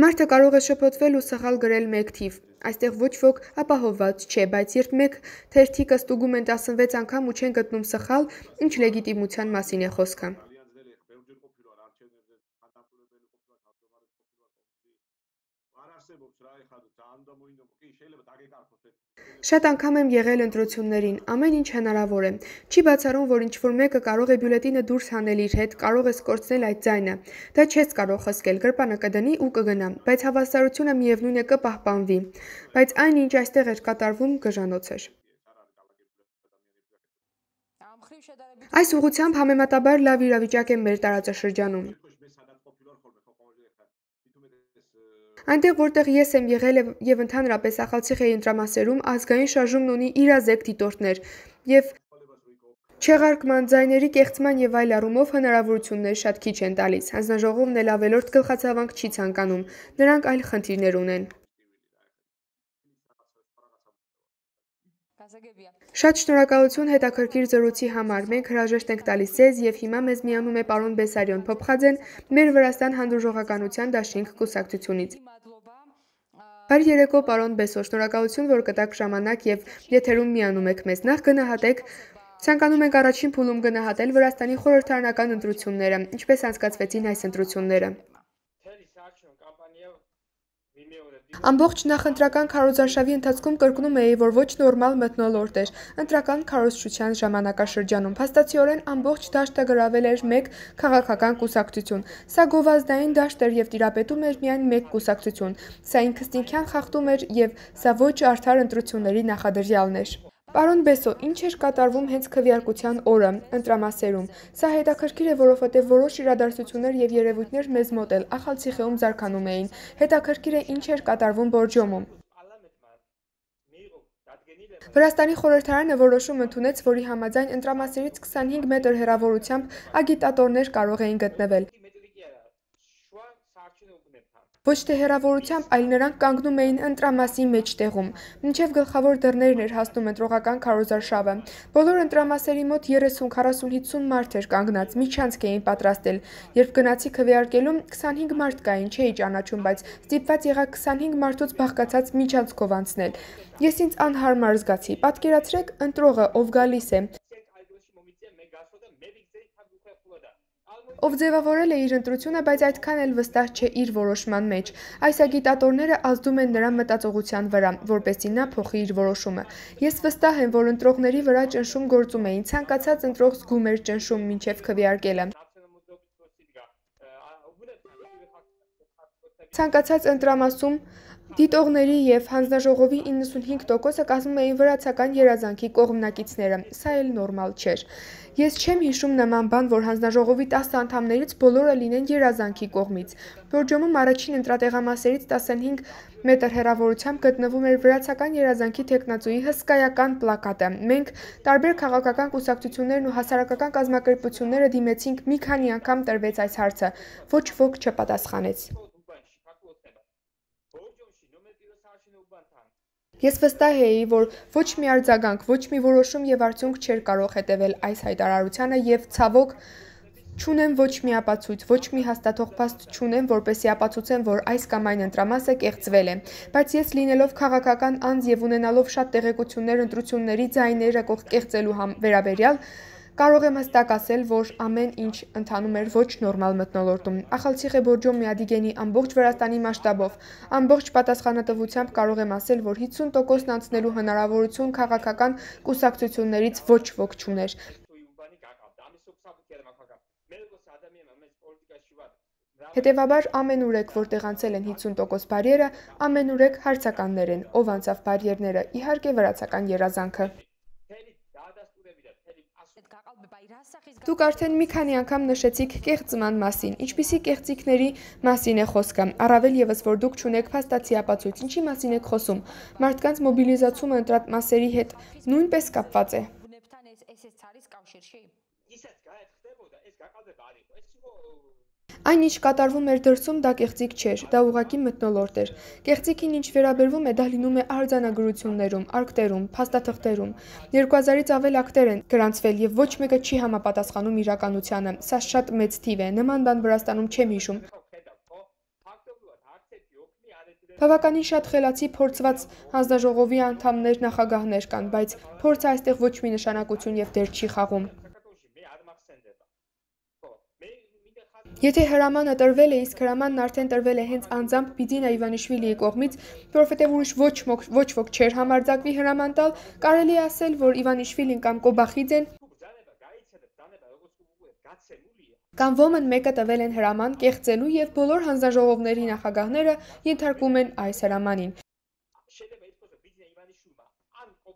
Մարդը կարող է շփոթվել ու սխալ գրել մեկ թիվ։ Այստեղ ոչ ոք ապահովված չէ, բայց երբ մեկ թերթիկը ստուգում են տասնվեց անգամ ու չեն գտնում սխալ, ինչ լեգիտիմության մասին է խոսքը։ Շատ անգամ եմ եղել ընտրություններին, ամեն ինչ հնարավոր է։ Չի բացառում, որ ինչ-որ մեկը կարող է բյուլետենը դուրս հանել իր հետ, կարող ես կորցնել այդ ձայնը։ Դա չես կարող խսկել, գրպանը կդնի ու կգնա, բայց հավասարությունը միևնույն է կպահպանվի։ Բայց այն, ինչ այստեղ էր կատարվում, գժանոց էր։ Այս ուղղությամբ համեմատաբար լավ իրավիճակ է մեր տարածաշրջանում։ Այնտեղ, որտեղ ես եմ եղել եւ ընդհանրապես Ախալցիխեի ընտրամասերում, ազգային շարժումն ունի իրազեկ դիտորդներ եւ չեղարկման, ձայների կեղծման եւ այլ առումով հնարավորություններ շատ քիչ են տալիս։ Հանձնաժողովն էլ ավելորդ գլխացավանք չի ցանկանում, նրանք այլ խնդիրներ ունեն։ Շատ շնորհակալություն հետաքրքիր զրույցի համար։ Մենք հրաժեշտ ենք տալիս ձեզ եւ հիմա մեզ միանում է պարոն Բեսարիոն Փոփխաձեն, մեր Վրաստան հանդուրժողականության դաշինք կուսակցությունից։ Բարի երեկո, պարոն Բեսո, շնորհակալություն, որ կտաք ժամանակ եւ եթերում միանում եք մեզ։ Նախ գնահատեք, ցանկանում ենք առաջին փուլում գնահատել Վրաստանի խորհրդարանական ընտրությունները, ինչպես անցկացվեցին այս ընտրությունները։ Ամբողջ նախընտրական քարոզարշավի ընթացքում կրկնում էի, որ ոչ նորմալ մթնոլորտ էր ընտրական քարոզչության ժամանակաշրջանում։ Փաստացիորեն ամբողջ դաշտը գրավել էր մեկ քաղաքական կուսակցություն։ Սա գովազդային դաշտ էր եւ տիրապետում էր միայն մեկ կուսակցություն։ Սա ինքնըստինքյան խախտում էր եւ սա ոչ արդար ընտրությունների նախադրյալն էր։ Պարոն Բեսո, ինչ էր կատարվում հենց քվեարկության օրը ընտրամասերում։ Սա հետաքրքիր է, որովհետև որոշ իրադարձություններ եւ երևույթներ մեզ մոտ էլ Ախալցիխեում զարգանում էին։ Հետաքրքիր է, ինչ էր կատարվում Բորջոմում։ Վրաստանի խորհրդարանը որոշում ընդունեց, որի համաձայն ընտրամասերից քսանհինգ մետր հեռավորությամբ ագիտատորներ կարող էին գտնվել։ Ոչ թե հեռավորությամբ, այլ նրանք կանգնում էին ընտրամասի մեջտեղում, մինչև գլխավոր դռներն էր հասնում ընտրողական քարոզարշավը։ Բոլոր ընտրամասերի մոտ երեսուն, քառասուն, հիսուն մարդ էր կանգնած, միջանցք էին պատրաստել։ Երբ գնացի քվեարկելուն, քսանհինգ մարդ կային, չէի ճանաչում, բայց ստիպված եղա քսանհինգ մարդուց բաղկացած միջանցքով անցնել։ Ես ինձ անհարմար զգացի։ Պատկերացրեք, ընտրողը, ով գալիս է, ով ձևավորել է իր ընտրությունը, բայց այդքան էլ վստահ չէ իր որոշման մեջ։ Այս ագիտատորները ազդում են նրա մտածողության վրա, որպեսզի նա փոխի իր որոշումը։ Ես վստահ եմ, որ ընտրողների վրա ճնշում գործում էին, ցանկացած ընտրող զգում էր ճնշում մինչև քվեարկելը։ Ցանկացած ընտրամասում դիտողների եւ հանձնաժողովի իննսունհինգ տոկոսը կազմում էին վրացական երազանքի կողմնակիցները։ Սա էլ նորմալ չէր։ Ես չեմ հիշում նման բան, որ հանձնաժողովի տասը անդամներից բոլորը լինեն երազանքի կողմից։ Բորջոմում առաջին ընտրատեղամասերից տասնհինգ մետր հեռավորությամբ գտնվում էր վրացական երազանքի թեկնածուի հսկայական պլակատը։ Մենք, տարբեր քաղաքական կուսակցություններն ու հասարակական կազմակերպությունները դիմեցինք, մի քանի անգամ տրվեց այս հարցը։ Ոչ ոք չպատասխանեց։ Ես վստահ էի, որ ոչ մի արձագանք, ոչ մի որոշում եւ արդյունք չէր կարող հետևել այս հայտարարությանը եւ ցավոք չունեմ ոչ մի ապացույց, ոչ մի հաստատող փաստ չունեմ, որպեսզի ապացուցեմ, որ այս կամ այն ընտրամասը կեղծվել է։ Բայց ես լինելով քաղաքական անձ եւ ունենալով շատ տեղեկություններ ընտրությունների ձայները կեղծելու վերաբերյալ, կարող եմ հստակ ասել, որ ամեն ինչ ընթանում էր ոչ նորմալ մթնոլորտում։ Ախալցիխե Բորջոմի Ադիգենի ամբողջ Վրաստանի մասշտաբով, ամբողջ պատասխանատվությամբ կարող եմ ասել, որ հիսուն տոկոսն անցնելու հնարավորություն քաղաքական կուսակցություններից ոչ ոք չուներ։ Հետևաբար ամենուրեք, որտեղ անցել են հիսուն տոկոս բարիերը, ամենուրեք հարցականներ են, ով անցավ բարիերները, իհարկե վրացական երազանքը։ Դուք արդեն մի քանի անգամ նշեցիք կեղծման մասին, ինչպիսի կեղծիքների մասին է խոսքը, առավել եւս որ դուք չունեք փաստացի ապացույց, ինչի մասին եք խոսում, մարդկանց մոբիլիզացումը ընտրամասերի հետ նույնպես կապված է։ Այն, ինչ կատարվում էր դրսում, դա կեղծիք չէր, դա ուղղակի մթնոլորտ էր։ Կեղծիքին ինչ վերաբերվում է, դա լինում է արձանագրություններում, ակտերում, փաստաթղթերում։ երկու հազարից ավել ակտեր են գրանցվել եւ ոչ մեկը չի համապատասխանում իրականությանը։ Սա շատ մեծ թիվ է, նման բան Վրաստանում չեմ հիշում։ Բավականին շատ խելացի փորձված հանձնաժողովի անդամներ, նախագահներ կան, բայց փորձը այստեղ ոչ մի նշանակություն եւ դեր չի խաղում։ Եթե հրամանը տրվել է, իսկ հրամանն արդեն տրվել է հենց անձամբ Բիդինա Իվանիշվիլիի կողմից, որովհետև ուրիշ ոչ ոչ ոք չէր համարձակվի հրաման տալ, կարելի է ասել, որ Իվանիշվիլին կամ Կոբախիձեն կամ ոմն մեկը տվել են հրաման կեղծելու և բոլոր հանձնաժողովների նախագահները ենթարկվում են այս հրամանին։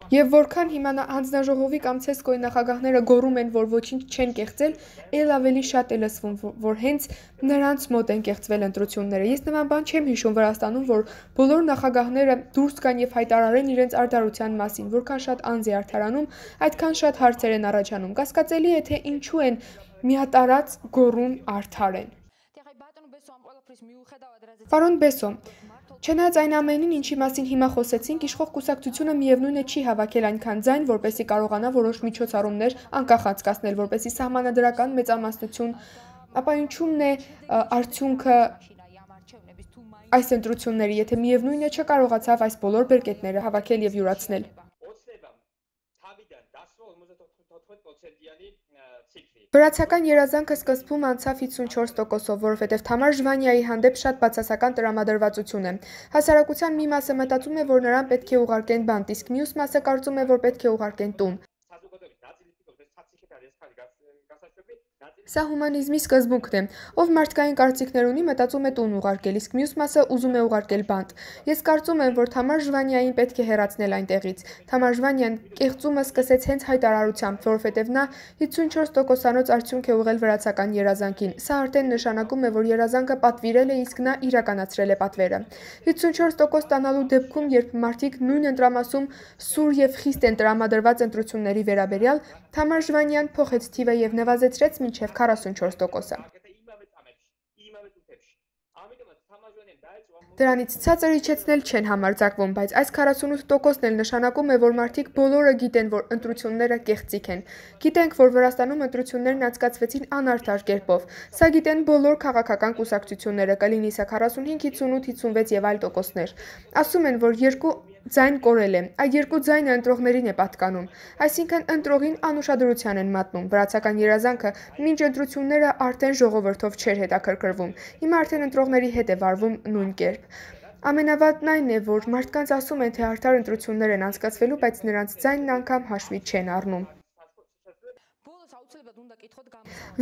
Եվ որքան հիմա հանձնաժողովի կամ ցեսկոյի նախագահները գոռում են, որ ոչինչ չեն կեղծել, ել ավելի շատ է լսվում, որ հենց նրանց մոտ են կեղծվել ընտրությունները։ Ես նման բան չեմ հիշում Վրաստանում, որ բոլոր նախագահները դուրս գան եւ հայտարարեն իրենց արդարության մասին, որքան շատ անձ է արդարանում, այդքան շատ հարցեր են առաջանում։ Կասկածելի է, թե ինչու են միատարած գոռում արդար են։ Պարոն Բեսո, չնայած այն ամենին, ինչի մասին հիմա խոսեցինք, իշխող կուսակցությունը միևնույն է չի հավաքել այնքան ձայն, որպեսզի կարողանա որոշ միջոցառումներ անկախ անցկացնել, որպեսզի սահմանադրական մեծամասնություն, ապա ինչու՞մն է արդյունքը այս ընտրությունների, եթե միևնույն է չկարողացավ այս բոլոր բերկետները հավաքել եւ յուրացնել։ Վրացական երազանքը սկզբում անցավ հիսունչորս տոկոսով, որովհետև Թամար Ժվանյայի հանդեպ շատ բացասական տրամադրվածություն է։ Հասարակության մի մասը մտածում է, որ նրան պետք է ուղարկեն բանտ, իսկ մյուս մասը կարծում է, որ պետք է ուղարկեն տուն։ Սա հումանիզմի սկզբունքն է, ով մարդկային կարծիքներ ունի, մտածում է տուն ուղարկել, իսկ մյուս մասը ուզում է ուղարկել բանտ։ Ես կարծում եմ, որ Թամար Ժվանյային պետք է հեռացնել այնտեղից։ Թամար Ժվանյան կեղծումը սկսեց հենց հայտարարությամբ, որովհետև նա հիսունչորս տոկոսանոց արդյունք է ուղղել վրացական երազանքին։ Սա արդեն նշանակում է, որ երազանքը պատվիրել է, իսկ նա իրականացրել է պատվերը։ հիսունչորս տոկոս ստանալու դեպքում, երբ մարդիկ նույն ընտրամասում սուր եւ խիստ են տրամադրված ընտրությունների վերաբերյալ, Թամար Ժվանյան փոխեց թիվը եւ նվազեցրեց մինչեւ քառասունչորս տոկոսը։ Դրանից ցածր իջեցնել չեն համարձակվում, բայց այս քառասունութ տոկոսն էլ նշանակում է, որ մարդիկ բոլորը գիտեն, որ ընտրությունները կեղծիք են։ Գիտենք, որ Վրաստանում ընտրություններն անցկացվեցին անարդար կերպով։ Սա գիտեն բոլոր քաղաքական կուսակցությունները, կլինի սա քառասունհինգ, հիսունութ, հիսունվեց եւ այլ տոկոսներ։ Ասում են, որ երկու ձայն կորել է, այդ երկու ձայնը ընտրողներին է պատկանում, այսինքն ընտրողին անուշադրության են մատնում։ Վրացական երազանքը մինչ ընտրությունները արդեն ժողովրդով չէր հետաքրքրվում, հիմա արդեն ընտրողների հետ է վարվում նույն կերպ։ Ամենավատն այն է, որ մարդկանց ասում են, թե արդար ընտրություններ են անցկացվելու, բայց նրանց ձայնն անգամ հաշվի չեն առնում։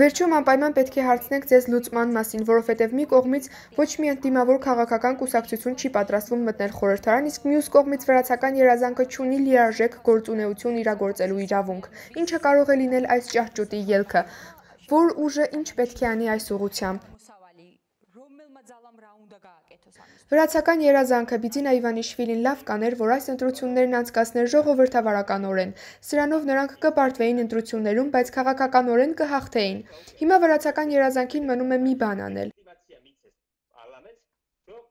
Վերջում անպայման պետք է հարցնենք ձեզ լուծման մասին, որովհետև մի կողմից ոչ մի ընդդիմավոր քաղաքական կուսակցություն չի պատրաստվում մտնել խորհրդարան, իսկ մյուս կողմից վրացական երազանքը չունի լիարժեք գործունեություն իրագործելու իրավունք։ Ինչը կարող է լինել այս ճահճուտի ելքը, որ ուժը ինչ պետք է անի այս ուղղությամբ։ Վրացական երազանքը Բիդինա Իվանիշվիլին լավ կաներ, որ այս ընտրություններն անցկացներ ժողովրդավարականորեն։ Սրանով նրանք կպարտվեին ընտրություններում, բայց քաղաքականորեն կհաղթեին։ Հիմա վրացական երազանքին մնում է մի բան անել՝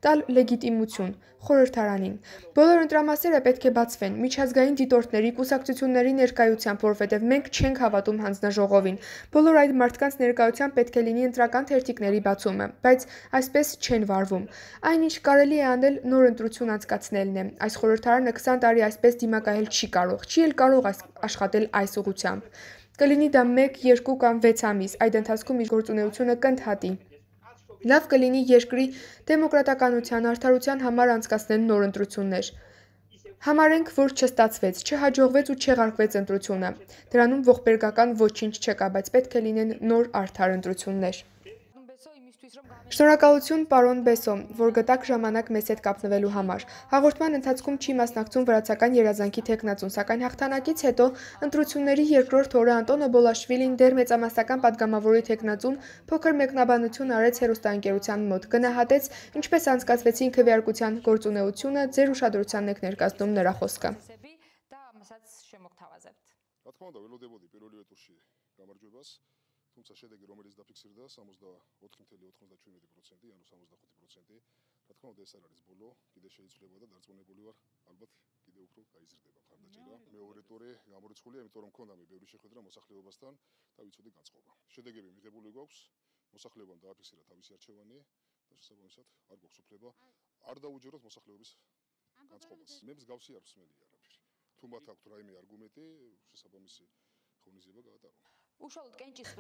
տալ լեգիտիմություն խորհրդարանին։ Բոլոր ընտրամասերը պետք է բացվեն միջազգային դիտորդների, կուսակցությունների ներկայությամբ, որովհետև մենք չենք հավատում հանձնաժողովին։ Բոլոր այդ մարդկանց ներկայությամբ պետք է լինի ընտրական թերթիկների բացումը, բայց այսպես չեն վարվում։ Այն, ինչ կարելի է անել, նոր ընտրություն անցկացնելն է։ Այս խորհրդարանը քսան տարի այսպես դիմակայել չի կարող, չի էլ կարող աշխատել այս ուղղությամբ։ Կլինի դա մեկ, երկու կամ վեց ամիս, այդ ընթացքում իր գործունեությունը կընդհատի։ Լավ կլինի երկրի դեմոկրատականության, արդարության համար անցկացնել նոր ընտրություններ։ Համարենք, որ չստացվեց, չհաջողվեց ու չեղարկվեց ընտրությունը։ Դրանում ողբերգական ոչինչ չկա, բայց պետք է լինեն նոր արդար ընտրություններ։ Շնորհակալություն, պարոն Բեսո, որ գտաք ժամանակ մեզ հետ կապնվելու համար։ Հաղորդման ընթացքում չի մասնակցում վրացական երազանքի թեկնածուն, սակայն հաղթանակից հետո ընտրությունների երկրորդ օրը Անտոնո Բոլաշվիլին դեռ մեծամասնական падգամավորի թեկնածուն փոքր մեկնաբանություն արեց հեռուստաընկերության մոտ, գնահատեց, ինչպես անցկացվեցին քվեարկության գործունեությունը, ձեր ուշադրությանն եք ներկայացնում նրա խոսքը։ Თუმცა შედეგი რომელიც დაფიქსირდა სამოცდაოთხი წუთი ოცდაშვიდ პროცენტი, ანუ სამოცდახუთი პროცენტი, რა თქმა უნდა ეს არ არის ბოლო, კიდე შეიძლება და დარწმუნებული ვარ, ალბათ კიდე უფრო გაიზრდება მხარდაჭერა. მეორე ტური გამორიცხულია, იმიტომ რომ მქონდა მე ბევრი შეხვედრა მოსახლეობასთან და ვიცოდი განწყობა. შედეგები მიღებული გვაქვს, მოსახლეობამ დააფიქსირა თავისი არჩევანი და შესაბამისად არ გვაქვს უფლება არ დაუჯეროთ მოსახლეობის განწყობას. მე მსგავსი არ ვსმენი არაფერი. თუ მათ აქვთ რაიმე არგუმენტი, შესაბამისი ღონისძიება გაატარონ.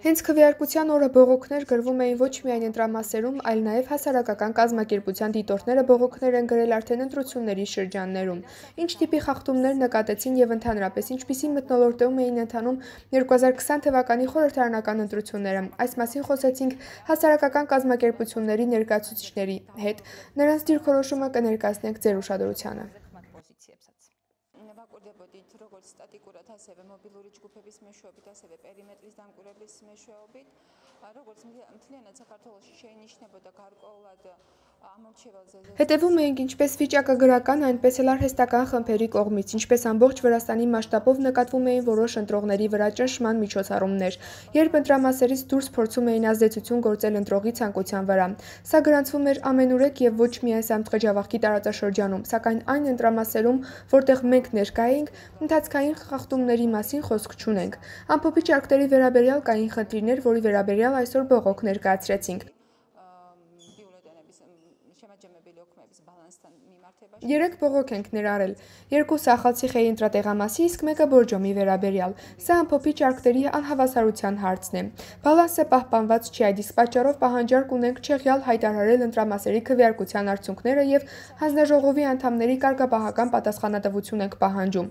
Հենց քվեարկության օրը բողոքներ գրվում էին ոչ միայն ընտրամասերում, այլ նաև հասարակական կազմակերպության դիտորդները բողոքներ են գրել արդեն ընտրությունների շրջաններում։ Ինչ տիպի խախտումներ նկատեցին եւ ընդհանրապես ինչպիսի մթնոլորտում էին ընթանում երկու հազար քսան թվականի խորհրդարանական ընտրությունները։ Այս մասին խոսեցինք հասարակական կազմակերպությունների ներկայացուցիչների հետ։ Նրանց դիրքորոշումը կներկայացնենք ձեր ուշադրությանը։ ვაკურდებოდით როგორც სტატიკურად, ასევე მობილური ჯგუფების მეშვეობით, ასევე პერიმეტრის დამკვირვებლის მეშვეობით, როგორც მთლიანად საქართველოში შეინიშნებოდა გარკვეულად ամორჩეველზე Հետևում էինք ինչպես վիճակագրական, այնպես էլ արհեստական խմբերի կողմից, ինչպես ամբողջ Վրաստանի մասշտաբով նկատվում էին որոշ ընտրողների վրա ճնշման միջոցառումներ, երբ ընտրամասերից դուրս փորձում էին ազդեցություն գործել ընտրողի ցանկության վրա։ Սա գրանցվում էր ամենուրեք եւ ոչ միայն Սամթխեջավախքի տարածաշրջանում, սակայն այն ընտրամասերում, որտեղ մենք ներկա էինք, ընթացքային խախտումների մասին խոսք չունենք։ Ամփոփիչ ակտերի վերաբերյալ կային խնդիրներ, որի վերաբերյալ այսօր բողոք ներկայացրեցինք։ Երեք բողոք ենք ներառել, երկուսը Ախալցիխեի ընտրատեղամասի, իսկ մեկը Բորջոմի վերաբերյալ։ Սա ամփոփիչ արկտերի անհավասարության հարցն է։ Բալանսը պահպանված չի, այդ իսկ պատճառով պահանջարկ ունենք չեղյալ հայտարարել ընտրամասերի քվեարկության արդյունքները եւ հանձնաժողովի անդամների կարգապահական պատասխանատվություն ենք պահանջում։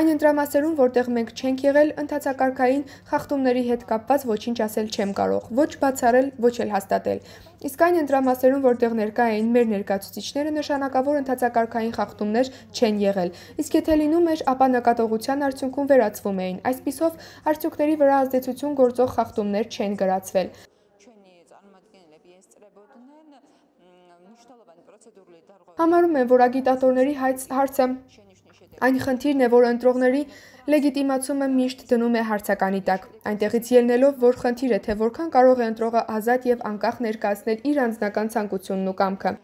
Այն ընտրամասերում, որտեղ մենք չենք եղել, ընթացակարգային խախտումների հետ կապված ոչինչ ասել չեմ կարող, ոչ բացառել, ոչ էլ հաստատել։ Իսկ այն ընտրամասերում, որտեղ ներկա էին մեր ներկայացուցիչները, նշանակավոր ընթացակարգային խախտումներ չեն եղել։ Իսկ եթե լինում էր, ապա նկատողության արդյունքում վերացվում էին։ Այսպիսով, արդյունքների վրա ազդեցություն գործող խախտումներ չեն գրացվել։ Համարում եմ, որ ագիտատորների հարցը այն խնդիրն է, որ ընտրողների լեգիտիմացումը միշտ դնում է հարցականի տակ, այնտեղից ելնելով, որ խնդիր է, թե որքան կարող է ընտրողը ազատ եւ անկախ ներկայացնել իր անձնական ցանկությունն ու կամքը։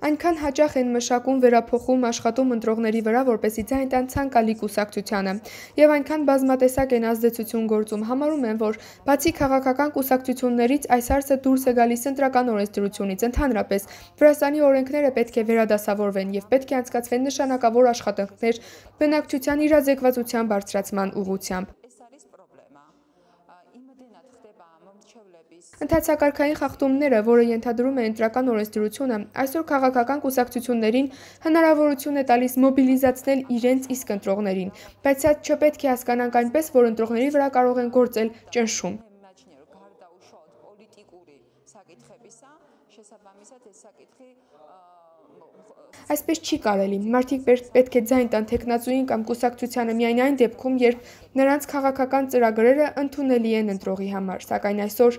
Այնքան հաճախ են մշակում, վերափոխում, աշխատում ընտրողների վրա, որպեսզի ձայն տան ցանկալի կուսակցությանը, եւ այնքան բազմատեսակ են ազդեցություն գործում։ Համարում եմ, որ բացի քաղաքական կուսակցություններից այս հարցը դուրս է գալիս ընտրական օրենսդրությունից, ընդհանրապես Վրաստանի օրենքները պետք է վերադասավորվեն եւ պետք է անցկացվեն նշանակավոր աշխատանքներ բնակչության իրազեկվածության բարձրացման ուղղությամբ։ Ընթացակարգային խախտումները, որը ենթադրում է ընտրական օրենսդրությունը, այսօր քաղաքական կուսակցություններին հնարավորություն է տալիս մոբիլիզացնել իրենց իսկ ընտրողներին, բայց սա չպետք է հասկանանք այնպես, որ ընտրողների վրա կարող են գործել ճնշում։ Այսպես չի կարելի, մարդիկ պետք է ձայն տան թեկնածուին կամ կուսակցությանը միայն այն դեպքում, երբ նրանց քաղաքական ծրագրերը ընդունելի են ընտրողի համար, սակայն այսօր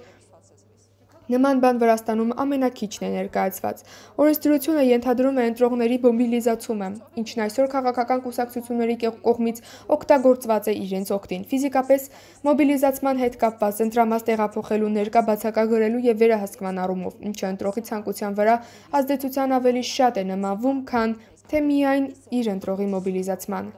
նման բան Վրաստանում ամենաքիչն է ներկայացված։ Օրենսդրությունը ենթադրում է ընտրողների մոբիլիզացումը, ինչն այսօր քաղաքական կուսակցությունների կողմից օգտագործված է իրենց օգտին։ Ֆիզիկապես մոբիլիզացման հետ կապված ընտրամաս տեղափոխելու, ներկա բացակագրելու եւ վերահսկման առումով, ինչը ընտրողի ցանկության վրա ազդեցության ավելի շատ է նմանվում, քան թե միայն իր ընտրողի մոբիլիզացման։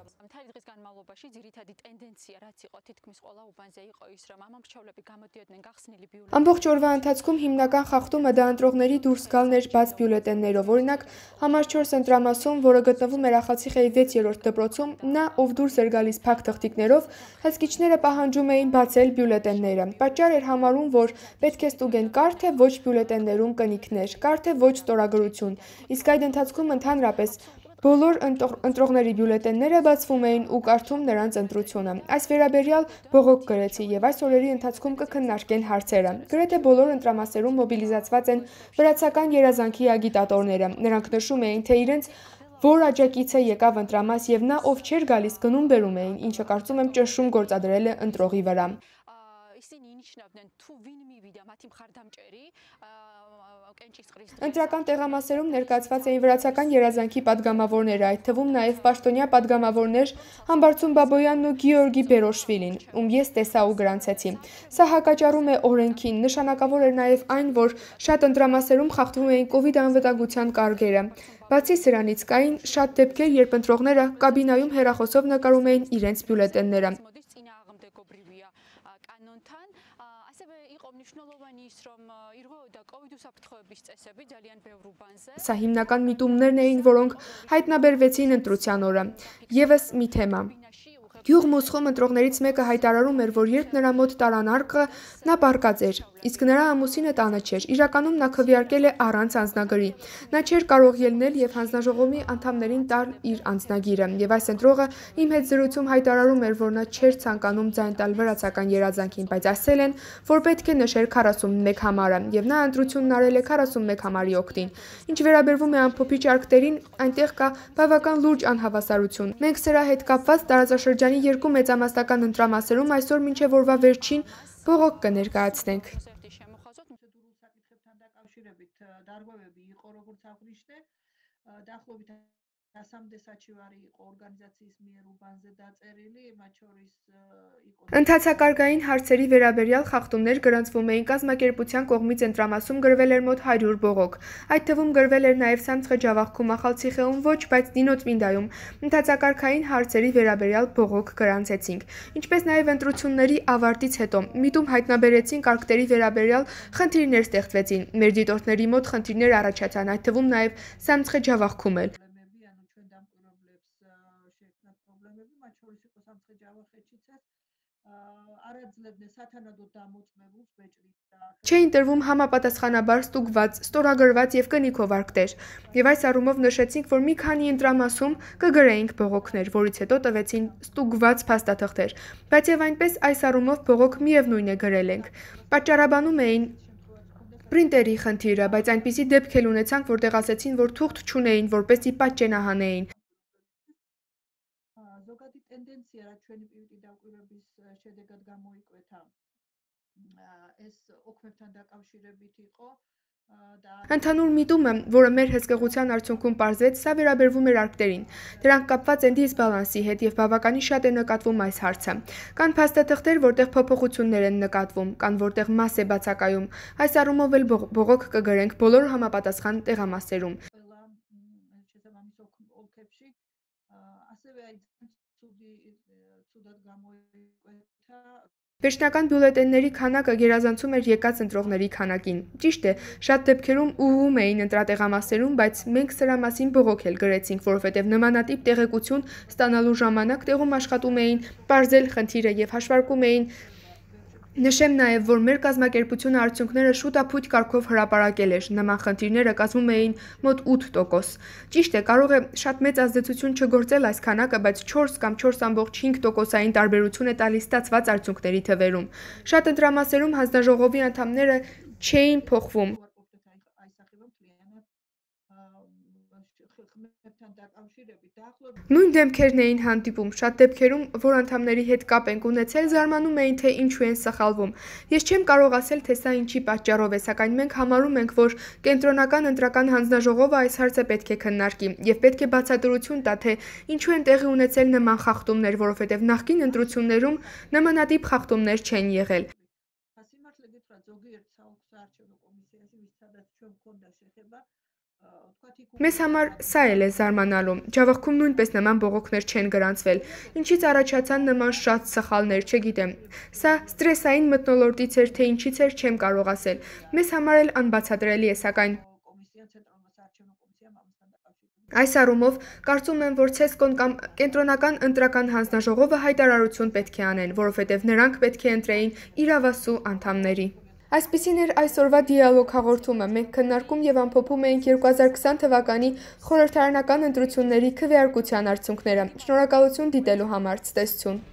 Ամբողջ օրվա ընթացքում հիմնական խախտումը դա ընտրողների դուրս գալն էր բաց բյուլետեններով։ Օրինակ, համար չորս ընտրամասում, որը գտնվում էր Ախալցիխեի վեցերորդ դպրոցում, նա, ով դուրս էր գալիս փակ թղթիկներով, հսկիչները պահանջում էին բացել բյուլետենները։ Պատճառ էր համարում, որ պետք է ստուգեն կար թե ոչ բյուլետեններում կնիքներ, կար թե ոչ ստորագրություն։ Իսկ այդ ընթացքում ընդհանրապես բոլոր ընտրողների բյուլետենները բացվում էին ու կարդում նրանց ընտրությունը։ Այս վերաբերյալ բողոք գրեցի եւ այս օրերի ընթացքում կքննարկեն հարցերը։ Գրեթե բոլոր ընտրամասերում մոբիլիզացված են վրացական երազանքի ագիտատորները։ Նրանք նշում էին, թե իրենց որ աջակիցը եկավ ընտրամաս եւ նա ով չէր գալիս գնում բերում էին, ինչը կարծում եմ ճնշում գործադրել է ընտրողի վրա։ Ընտրական տեղամասերում ներկայացված էին վրացական երազանքի падգամավորները, այդ թվում նաև պաշտոնյա падգամավորներ Համբարձում Բաբոյանն ու Գեորգի Բերոշվիլին, ում ես տեսա ու գրանցեցի։ Սա հակաճառում է օրենքին, նշանակավոր էր նաև այն, որ շատ ընտրամասերում խախտվում էին կովիդ անվտանգության կարգերը։ Բացի սրանից կային շատ դեպքեր, երբ ընտրողները կաբինայում հեռախոսով նկարում էին իրենց բյուլետենները։ Սա հիմնական միտումներն էին, որոնք հայտնաբերվեցին ընտրության օրը։ Եվս մի թեմա։ Գյուղմոսխում ընտրողներից մեկը հայտարարում էր, որ երբ նրա մոտ տարան արկղը, նա բարկած էր, իսկ նրա ամուսինը տանը չէր։ Իրականում նա քվեարկել է առանց անձնագրի։ Նա չէր կարող ելնել եւ հանձնաժողովի անդամներին տալ իր անձնագիրը։ Եվ այս ընտրողը իմ հետ զրույցում հայտարարում էր, որ նա չէր ցանկանում ձայն տալ վրացական երազանքին, բայց ասել են, որ պետք է նշեր քառասունմեկ համարը, եւ նա ընտրությունն արել է քառասունմեկ համարի օգտին։ Ինչ վերաբերվում է ամփոփիչ արկղերին, այնտեղ կա բավական լուրջ անհավասարություն։ Մենք սրա հետ կապված տարածաշրջանի երկու մեծամասնական ընտրամասերում այսօր մինչև օրվա վերջին բողոք կներկայացնենք։ Ընթացակարգային հարցերի վերաբերյալ խախտումներ գրանցվում էին կազմակերպության կողմից ընտրամասում գրվել էր մոտ հարյուր բողոք։ Այդ թվում գրվել էր նաև Սամցխեջավախքում, Ախալցիխեում ոչ, բայց Դինոծմինդայում ընթացակարգային հարցերի վերաբերյալ բողոք գրանցեցինք։ Ինչպես նաև ընտրությունների ավարտից հետո միտում հայտնաբերեցինք արկղերի վերաբերյալ խնդիրներ ստեղծվեցին։ Մեր դիտորդների մոտ խնդիրներ առաջացան, այդ թվում նաև Սամցխեջավախքում էլ։ Չէին տրվում համապատասխանաբար ստուգված, ստորագրված եւ կնիքով արկղեր։ Եվ այս առումով նշեցինք, որ մի քանի ընտրամասում կգրեինք բողոքներ, որից հետո տվեցին ստուգված փաստաթղթեր։ Բայց եւ այնպես այս առումով բողոք միևնույն է գրել ենք։ Պատճառաբանում էին պրինտերի խնդիրը, բայց այնպիսի դեպք էլ ունեցանք, որտեղ ասեցին, որ թուղթ չունեին, որպեսզի պատճենահանեին։ Ընդհանուր միտումը, որը մեր հսկեղության արդյունքում պարզվեց, սա վերաբերվում էր արկղերին։ Դրանք կապված են դիսբալանսի հետ եւ բավականին շատ է նկատվում այս հարցը։ Կան փաստաթղթեր, որտեղ փոփոխություններ են նկատվում, կան որտեղ մաս է բացակայում։ Այս առումով էլ բողոք կգրենք բոլոր համապատասխան տեղամասերում։ Վերջնական բյուլետենների քանակը գերազանցում էր եկած ընտրողների քանակին։ Ճիշտ է, շատ դեպքերում ուղղում էին ընտրատեղամասերում, բայց մենք սրա մասին բողոք էլ գրեցինք, որովհետև նմանատիպ տեղեկություն ստանալու ժամանակ տեղում աշխատում էին պարզել խնդիրը եւ հաշվարկում էին։ Նշեմ նաև, որ մեր կազմակերպությունը արդյունքները շուտափույթ կարգով հրապարակել էր, նման խնդիրները կազմում էին մոտ ութ տոկոս։ Ճիշտ է, կարող է շատ մեծ ազդեցություն չգործել այս քանակը, բայց չորս կամ չորս ամբողջ հինգ տոկոսային տարբերություն է տալիս ստացված արդյունքների թվերում։ Շատ ընտրամասերում հանձնաժողովի անդամները չէին փոխվում։ Նույն դեմքերն էին հանդիպում, շատ դեպքերում, որ անդամների հետ կապ ենք ունեցել, զարմանում էին, թե ինչու են սխալվում։ Ես չեմ կարող ասել, թե սա ինչի պատճառով է, սակայն մենք համարում ենք, որ կենտրոնական ընտրական հանձնաժողովը այս հարցը պետք է քննարկի եւ պետք է բացատրություն տա, թե ինչու են տեղի ունեցել նման խախտումներ, որովհետեւ նախկին ընտրություններում նմանատիպ խախտումներ չեն եղել։ Մեզ համար սա էլ է զարմանալու։ Ջավախքում նույնպես նման բողոքներ չեն գրանցվել։ Ինչից առաջացան նման շատ սխալներ, չգիտեմ։ Սա ստրեսային մթնոլորտից էր, թե ինչից էր, չեմ կարող ասել։ Մեզ համար էլ անբացատրելի է, սակայն այս առումով կարծում եմ, որ ցեսկոն կամ կենտրոնական ընտրական հանձնաժողովը հայտարարություն պետք է անեն, որովհետև նրանք պետք է ընտրեին իրավասու անդամների։ Այսպիսին էր այսօրվա դիալոգ հաղորդումը։ Մենք քննարկում եւ ամփոփում էինք երկու հազար քսան թվականի խորհրդարանական ընտրությունների քվեարկության արդյունքները։ Շնորհակալություն դիտելու համար, ցտեսություն։